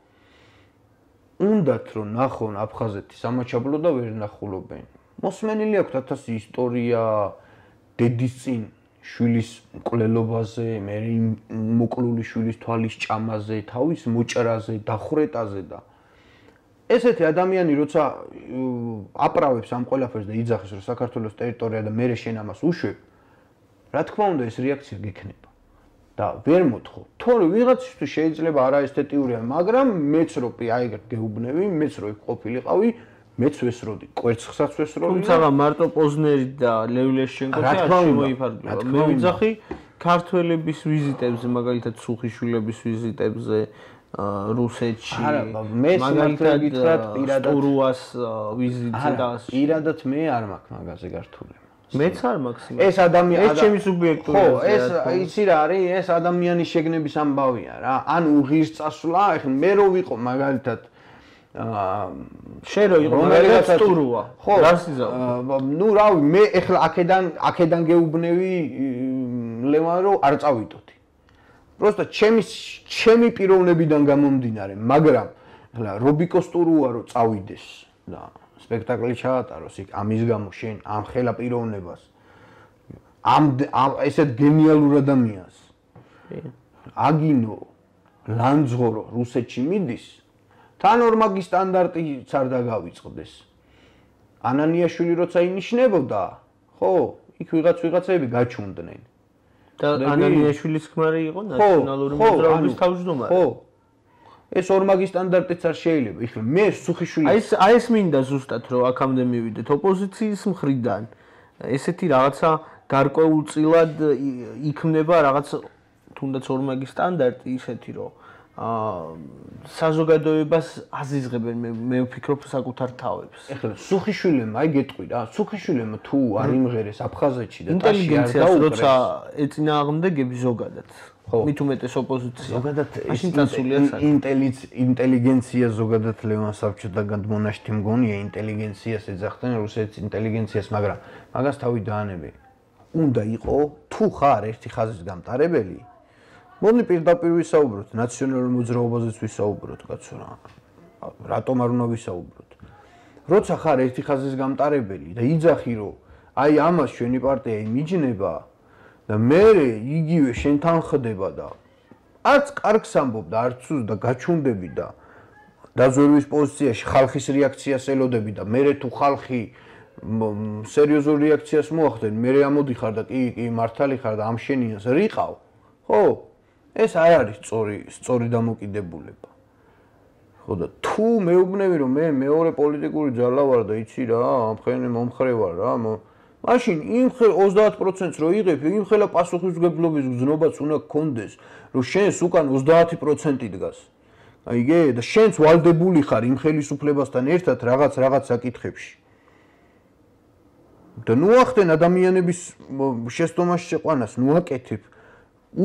უნდათ რომ ნახონ აფხაზეთი სამაჩაბლო და ვერ ნახულობენ. მოსმენილი აქვთ ათასი ისტორია დედის წინ შვილის მკვლელობაზე, მე მოკლული შვილის თვალის ჭამაზე, თავის მოჭრაზე, დახვრეტაზე და ესეთი ადამიანი როცა აპრავებს ამ ყველაფერს და იძახის რომ საქართველოს ტერიტორია და მე შენ ამას უშვებ, რა თქმა უნდა ეს რეაქცია გექნება. და ვერ მოთხოვ. თორე ვიღაცისთვის შეიძლება არაესთეტიურია, მაგრამ მეც რო აი ეგ გეუბნები, მეც რო იქ ყოფილიყავი, მეც ვესროდი, კვერცხსაც ვესროდი. თუმცა მარტო პოზნერი და ლევლეშენკო არ შემოიფარგლება. მე ვიძახი ქართველების ვიზიტებზე, მაგალითად სუხიშვილების ვიზიტებზე რუსეთში. მაგალითად გითხრათ პირადად სტურუას ვიზიტზე და ასე. პირადად მე არ მაქვს მაგაზე გართულება. მეც არ მაქვს. ეს ადამიანი ეს ჩემი სუბიექტური ხო, ეს იცი რა არის, ეს ადამიანის შეგნების ამბავია რა. ან უღირს წასვლა, ეხლა მე რო ვიყო მაგალითად აა შენ რო იყო მაგალითად სტურუა. ხო, ნუ რავი, მე ეხლა აქედან აქედან გეუბნევი ლევან რომ არ წავიდოდი. просто ჩემი ჩემი პიროვნებიდან გამომდინარე, მაგრამ ეხლა რობიკო სტურუა რო წავიდეს და სპექტაკლი ჩაატაროს იქ ამის გამო შენ ამ ხელა პიროვნებას ამ ესეთ გენიალურ ადამიანს აგინო ლანძღორო რუსეთში მიდის თან ორმაგი სტანდარტიც არ დაგავიწყდეს ანანიაშვილი როცა ინიშნებოდა ხო იქ ვიღაც ვიღაცები გაჩუნდნენ და ანანიაშვილის ქმარი იყო ნაციონალური მოძრაობის თავმჯდომარე ხო ეს ორმაგი სტანდარტიც არ შეიძლება. ეხლა მე სუხიშვილი აი ეს აი ეს მინდა ზუსტად რომ აქამდე მივიდეთ ოპოზიციის მხრიდან. ესეთი რაღაცა გარკვეულწილად იქმნება რაღაც თუნდაც ორმაგი სტანდარტი ისეთი რომ აა საზოგადოებას აზიზღებენ მე მე ვფიქრობ საკუთარ თავებს. ეხლა სუხიშვილემ აი გეტყვი რა. სუხიშვილემ თუ არ იმღერეს აფხაზეთში და ტაში არ დაუკრეს. როცა ეწინააღმდეგები ზოგადად მით უმეტეს ოპოზიცია. ზოგადად ინტელიგენცია ზოგადად ლევან საბჭოდაგან მონაშთი მგონია ინტელიგენციას ეძახდნენ რუსეთის ინტელიგენციას, მაგრამ მაგას თავი დაანები. უნდა იყო თუ ხარ ერთი ხაზის გამტარებელი, მოდი პირდაპირ ვისაუბროთ, ნაციონალურ მოძრაობაზეც ვისაუბროთ, კაცო რა. რატომ არ უნდა ვისაუბროთ? როცა ხარ ერთი ხაზის გამტარებელი და იძახი რომ აი ამას ჩვენი პარტია იმიჯნება და მე იგივე შენთან ხდება და არც კარგს ამბობ და არც უს და გაჩუნდები და დაზვერვის პოზიციაში ხალხის რეაქციას ელოდები და მე თუ ხალხი სერიოზულ რეაქციას მოახდენ მე ამოდიხარ და კი კი მართალი ხარ და ამ შენიანს რიყავ ხო ეს არ არის სწორი სწორი დამოკიდებულება ხო და თუ მეუბნები რომ მე მეორე პოლიტიკური ძალა ვარ და იცი რა ამ ხენი მომხრე ვარ რა მაშინ იმ ოცდაათ პროცენტს რო იღებ, იმ ხელა პასუხისმგებლობის გზნობაც უნდა გქონდეს, რომ შენს უკან ოცდაათი პროცენტი დგას. აიგე და შენც ვალდებული ხარ იმ ხელისუფლებასთან ერთად რაღაც რაღაც საკითხებში. და ნუ ახდენ ადამიანების შესტომაში შეყვანას, ნუ აკეთებ.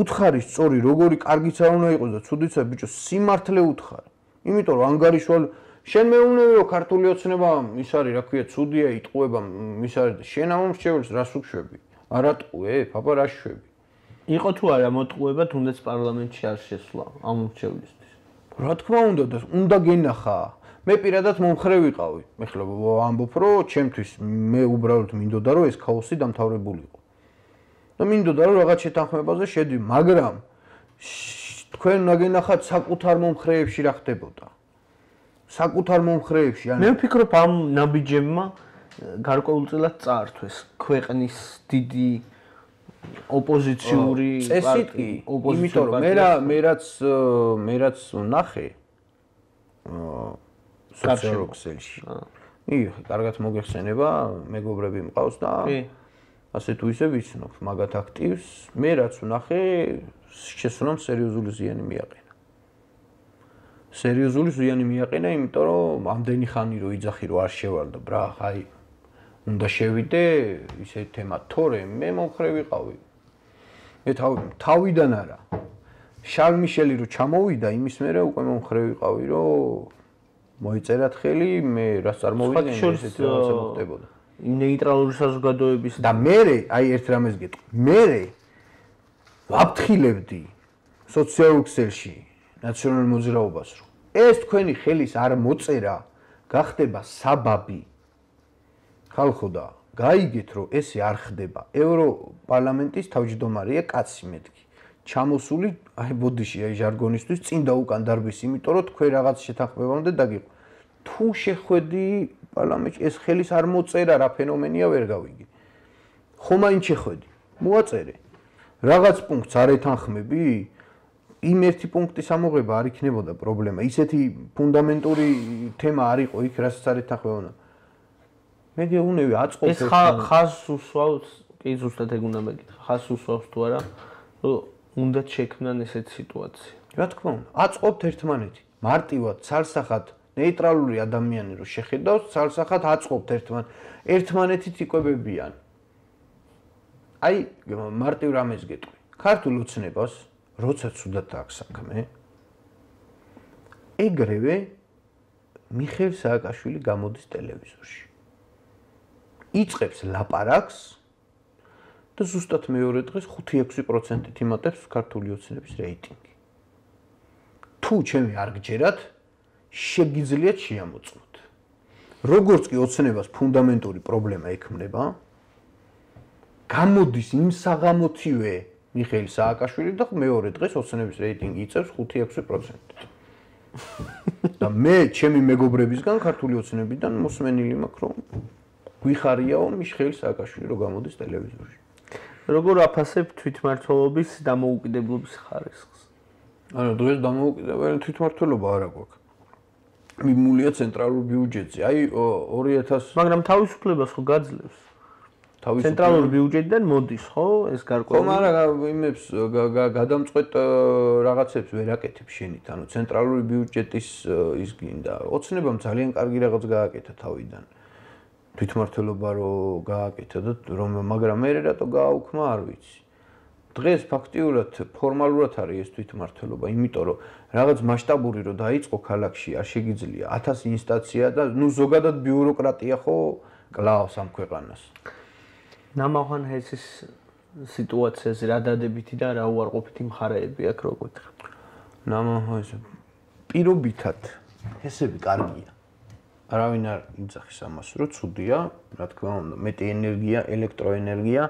უთხარი სწორი, როგორი კარგიც არ უნდა იყოს და ცუდიცა ბიჭო, სიმართლე უთხარ. იმიტომ რომ ანგარიშვალ შენ მეუბნები რომ ქართული ოცნება ის არის რა ქვია ცუდია იტყუება ის არის და შენ ამ მრჩეველს რას უშვები? არ ატყუე, პაპა რა შვები? იყო თუ არა მოტყუება თუნდაც პარლამენტში არ შესვლა ამ მრჩევლისთვის? რა თქმა უნდა და უნდა გენახა. მე პირადად მომხრე ვიყავი. მე ხლა ამბობ, რომ ჩემთვის მე უბრალოდ მინდოდა რომ ეს ქაოსი დამთავრებულიყო. და მინდოდა რომ რაღაც შეთანხმებაზე შედი, მაგრამ თქვენ უნდა გენახათ საკუთარ მომხრეებში რა ხდებოდა. საკუთარ მომხრეებში, ანუ მე ვფიქრობ ამ ნაბიჯებმა გარკვეულწილად წაართვეს ქვეყნის დიდი ოპოზიციური წესითი, იმიტომ რომ მე რა მე რაც მე რაც ვნახე სოციალურ ქსელში. ი, კარგად მოგეხსენება, მეგობრები მყავს და ასე თუ ისე ვიცნობ მაგათ აქტივს, მე რაც ვნახე, შესულამ სერიოზული ზიანი მიაყენა. სერიოზული ზიანი მიაყენა, იმიტომ რომ ამდენი ხანი რო იძახი რომ არ შევალ და ბრა, აი უნდა შევიდე ისე თემა, თორე მე მომხრე ვიყავი. მე თავიდან არა. შარლ მიშელი რო ჩამოვიდა, იმის მერე უკვე მომხრე ვიყავი, რომ მოიწერათ ხელი, მე რას წარმოვიდგენ ესეთი რაღაცა მოხდებოდა. ნეიტრალური საზოგადოების და მე აი ერთ რამეს გეტყვი. მე ვაფრთხილებდი სოციალურ ქსელში ნაციონალურ მოძრაობას, რომ ეს თქვენი ხელის არ მოწერა გახდება საბაბი. ხალხო და გაიგეთ, რომ ესე არ ხდება. ევროპარლამენტის თავმჯდომარეა კაცი მეთქი. ჩამოსული, აი ბოდიში, აი ჟარგონისთვის წინ და უკან დარბის, იმიტომ რომ თქვენ რაღაც შეთანხმებამდე დაგიყო. თუ შეხვედი პარლამენტში, ეს ხელის არ მოწერა, რა ფენომენია ვერ გავიგე. ხო მაინც შეხვედი, მოაწერე. რაღაც პუნქტს არ ეთანხმები? იმ ერთი პუნქტის ამოღება არ იქნებოდა პრობლემა. ისეთი ფუნდამენტური თემა არ იყო იქ, რასაც არ ეთანხმებოდა. მე გეუნები აწყობ ეს ხაზს უსვავს, კი ზუსტად ეგ უნდა მეკითხა. ხაზს უსვავს თუ არა, რომ უნდა შექმნან ესეთი სიტუაცია. რა თქმა უნდა, აწყობთ ერთმანეთი. მარტივად, ცალსახად, ნეიტრალური ადამიანი რო შეხედავს, ცალსახად აწყობთ ერთმან, ერთმანეთით იკვებებიან. აი, მარტივ რამეს გეტყვი. ქართულ ოცნებას, როცა ცუდად აქვს საქმე, ეგრევე მიხეილ სააკაშვილი გამოდის ტელევიზორში. იწყებს ლაპარაკს და ზუსტად მეორე დღეს ხუთი ექვსი პროცენტით იმატებს ქართული ოცნების რეიტინგი. თუ ჩემი არ გჯერათ, შეგიძლიათ შეამოწმოთ. როგორც კი ოცნებას ფუნდამენტური პრობლემა ექმნება, გამოდის იმ საღამოთივე მიხეილ სააკაშვილი და მეორე დღეს ოცნების რეიტინგი იწევს ხუთი ექვსი პროცენტით. და მე ჩემი მეგობრებისგან ქართული ოცნებიდან მოსმენილი მაქვს, რომ გვიხარიაო მიხეილ სააკაშვილი რო გამოდის ტელევიზორში. როგორ აფასებ თვითმმართველობის დამოუკიდებლობის ხარისხს? ანუ დღეს დამოუკიდებელი თვითმმართველობა არ აქვს. მიმულია ცენტრალურ ბიუჯეტზე. აი ორი ათასი მაგრამ თავისუფლებას ხო გაძლევს? ცენტრალურ ბიუჯეტიდან მოდის ხო ეს გარკვეული? ხო, მაგრამ იმებს გადამწყვეტ რაღაცებს ვერ აკეთებს შენით. ანუ ცენტრალური ბიუჯეტის ის გინდა. ოცნებამ ძალიან კარგი რაღაც გააკეთა თავიდან. თვითმმართველობა რო გააკეთა და რომ მაგრამ მე რატო გააუქმა არ ვიცი. დღეს ფაქტიურად ფორმალურად არის ეს თვითმმართველობა, იმიტომ რომ რაღაც მასშტაბური რო დაიწყო ქალაქში, არ შეგიძლია ათასი ინსტანცია და ნუ ზოგადად ბიუროკრატია ხო კლავს ამ ქვეყანას. ნამახვან ჰესის სიტუაციაზე რა დადებითი და რა უარყოფითი მხარეები აქვს რო გითხრა? ნამახვან პირობითად ჰესები კარგია. არავინ არ იძახის ამას, რომ ცუდია, რა თქმა უნდა, მეტი ენერგია, ელექტროენერგია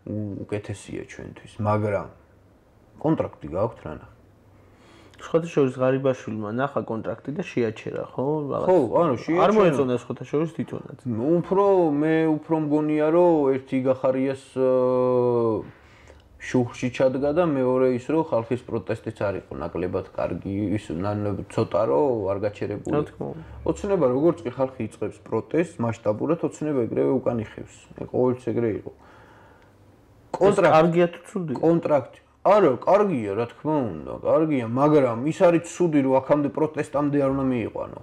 უკეთესია ჩვენთვის, მაგრამ კონტრაქტი გააქვთ რა ნახე. სხვათაშორის ღარიბაშვილმა ნახა კონტრაქტი და შეაჩერა, ხო? ხო, ანუ შეაჩერა. არ მოეწონა სხვათაშორის თვითონაც. უფრო მე უფრო მგონია, რომ ერთი გახარიას შუხში ჩადგა და მეორე ის რომ ხალხის პროტესტიც არ იყო ნაკლებად კარგი, ის ცოტა რომ არ გაჩერებული. რა თქმა უნდა. ოცნება როგორც კი ხალხი იწყებს პროტესტს მასშტაბურად, ოცნება ეგრევე უკან იხევს. ყოველთვის ეგრე იყო. კონტრაქტი კარგია თუ ცუდი? კონტრაქტი. არა, კარგია, რა თქმა უნდა, კარგია, მაგრამ ის არის ცუდი, რომ აქამდე პროტესტამდე არ უნდა მიიყვანო.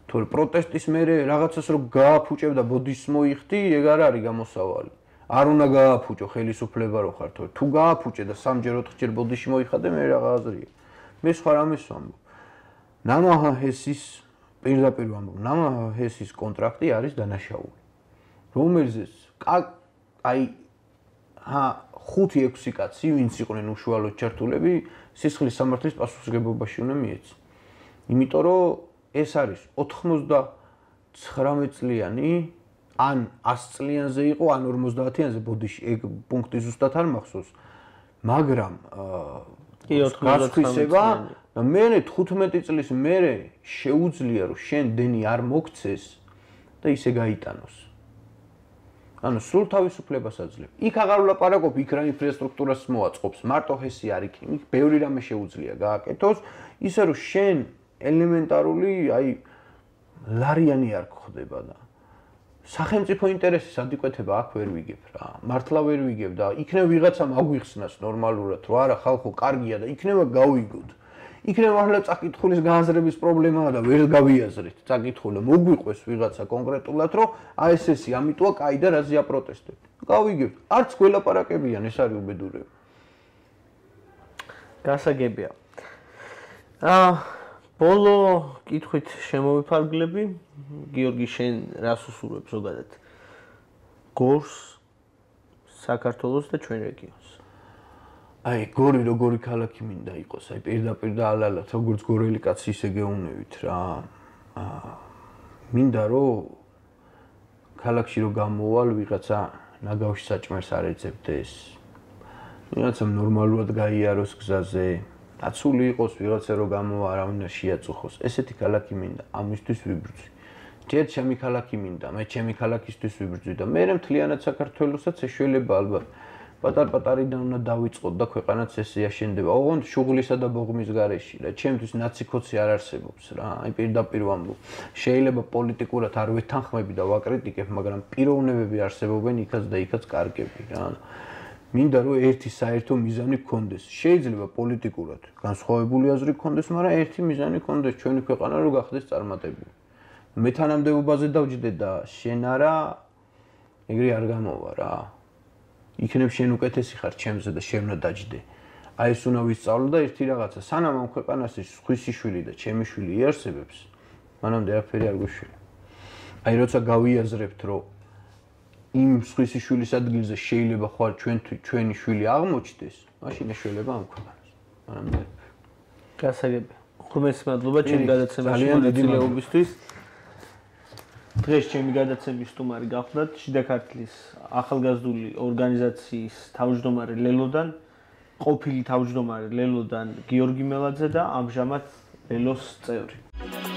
თორე პროტესტის მერე რაღაცას რომ გააფუჭებ და ბოდიშს მოიხდი, ეგ არ არის გამოსავალი. არ უნდა გააფუჭო ხელისუფლება რო ხარ, თორე თუ გააფუჭე და სამჯერ ოთხჯერ ბოდიში მოიხადე, მე რა აზრია. მე სხვა რამეს ვამბობ. ნამაჰა ჰესის პირდაპირ ვამბობ, ნამაჰა ჰესის კონტრაქტი არის დანაშაული. რომელზეც აი ჰა ხუთი ექვსი კაცი, ვინც იყვნენ უშუალოდ ჩართულები, სისხლის სამართლის პასუხისმგებლობაში უნდა მიეცი. იმიტომ რომ ეს არის ოთხმოცდათვრამეტ წლიანი, ან ას წლიანზე იყო, ან ორმოცდაათიანზე, ბოდიში, ეგ პუნქტი ზუსტად არ მახსოვს. მაგრამ კი ოთხმოცდათვრამეტ და მერე თხუთმეტი წლის მერე შეუძლია რომ შენ დენი არ მოგცეს და ისე გაიტანოს. ანუ სულ თავისუფლებას აძლევ. იქ აღარ ვლაპარაკობ, იქ რა ინფრასტრუქტურას მოაწყობს, მარტო ჰესი არ იქ, იქ ბევრი რამე შეუძლია გააკეთოს, ისე რომ შენ ელემენტარული, აი ლარიანი არ გხდება და სახელმწიფო ინტერესის ადიკვეთება აქ ვერ ვიგებ რა. მართლა ვერ ვიგებ და იქნება ვიღაცამ აგვიხსნას ნორმალურად, რომ არა ხალხო კარგია და იქნება გავიგოთ. იქნება ახლა წაკითხulis გააზრების პრობლემაა და ვერ გავიაზრეთ. წაკითხული მოგვიყვეს ვიღაცა კონკრეტულად, რომ აი ეს ესი ამიტოა კაი და რაზეა პროტესტები. გავიგებთ. არც გველაპარაკებიან, ეს არის უბედურება. გასაგებია. აა ბოლო კითხვით შემოვიფარგლები. გიორგი, შენ რას უსურვებ ზოგადად? გორს, საქართველოს და ჩვენ რეგიონს. აი, გორი როგორი ქალაქი მინდა იყოს, აი პირდაპირ და ალალად, როგორც გორელი კაცი ისე გეუნევით რა. აა მინდა რომ ქალაქში რომ გამოვალ ვიღაცა ნაგავში საჭმელს არ ეძებდეს. ვიღაცამ ნორმალურად გაიაროს გზაზე. დაცული იყოს ვიღაცა რომ გამოვა არავინ არ შეაწუხოს. ესეთი ქალაქი მინდა, ამისთვის ვიბრძვი. ჯერ ჩემი ქალაქი მინდა, მე ჩემი ქალაქისთვის ვიბრძვი და მე მთლიანად საქართველოსაც ეშველება ალბათ. პატარ-პატარიდან უნდა დავიწყოთ და ქვეყანაც ესე აშენდება. ოღონდ შუღლისა და ბოღმის გარეშე და ჩემთვის ნაციკოცი არ არსებობს რა. აი პირდაპირ ვამბობ. შეიძლება პოლიტიკურად არ ვეთანხმები და ვაკრიტიკებ, მაგრამ პიროვნებები არსებობენ იქაც და იქაც კარგები რა. მინდა რომ ერთი საერთო მიზანი გქონდეს. შეიძლება პოლიტიკურად განსხვავებული აზრი გქონდეს, მაგრამ ერთი მიზანი გქონდეს ჩვენი ქვეყანა რომ გახდეს წარმატებული. მეთანამდებობაზე დავჯდე და შენ არა ეგრე არ გამოვა რა. იქნებ შენ უკეთესი ხარ ჩემზე და შენ უნდა დაჯდე. აი ეს უნდა ვისწავლო და ერთი რაღაცა, სანამ ამ ქვეყანაში სხვისი შვილი და ჩემი შვილი იარსებებს, მანამდე არაფერი არ გვეშველა. აი როცა გავიაზრებთ, რომ იმ სხვისი შვილის ადგილზე შეიძლება ხვალ ჩვენ ჩვენი შვილი აღმოჩნდეს, მაშინ ეშველება ამ ქვეყანას. მანამდე. გასაგებია. ღრმესი მადლობა ჩემი გადაცემაში მონაწილეობისთვის. დღეს ჩემი გადაცემის სტუმარი გახლდათ შიდა ქართლის ახალგაზრდული ორგანიზაციის თავმჯდომარე ლელოდან, ყოფილი თავმჯდომარე ლელოდან გიორგი მელაძე და ამჟამად ლელოს წევრი.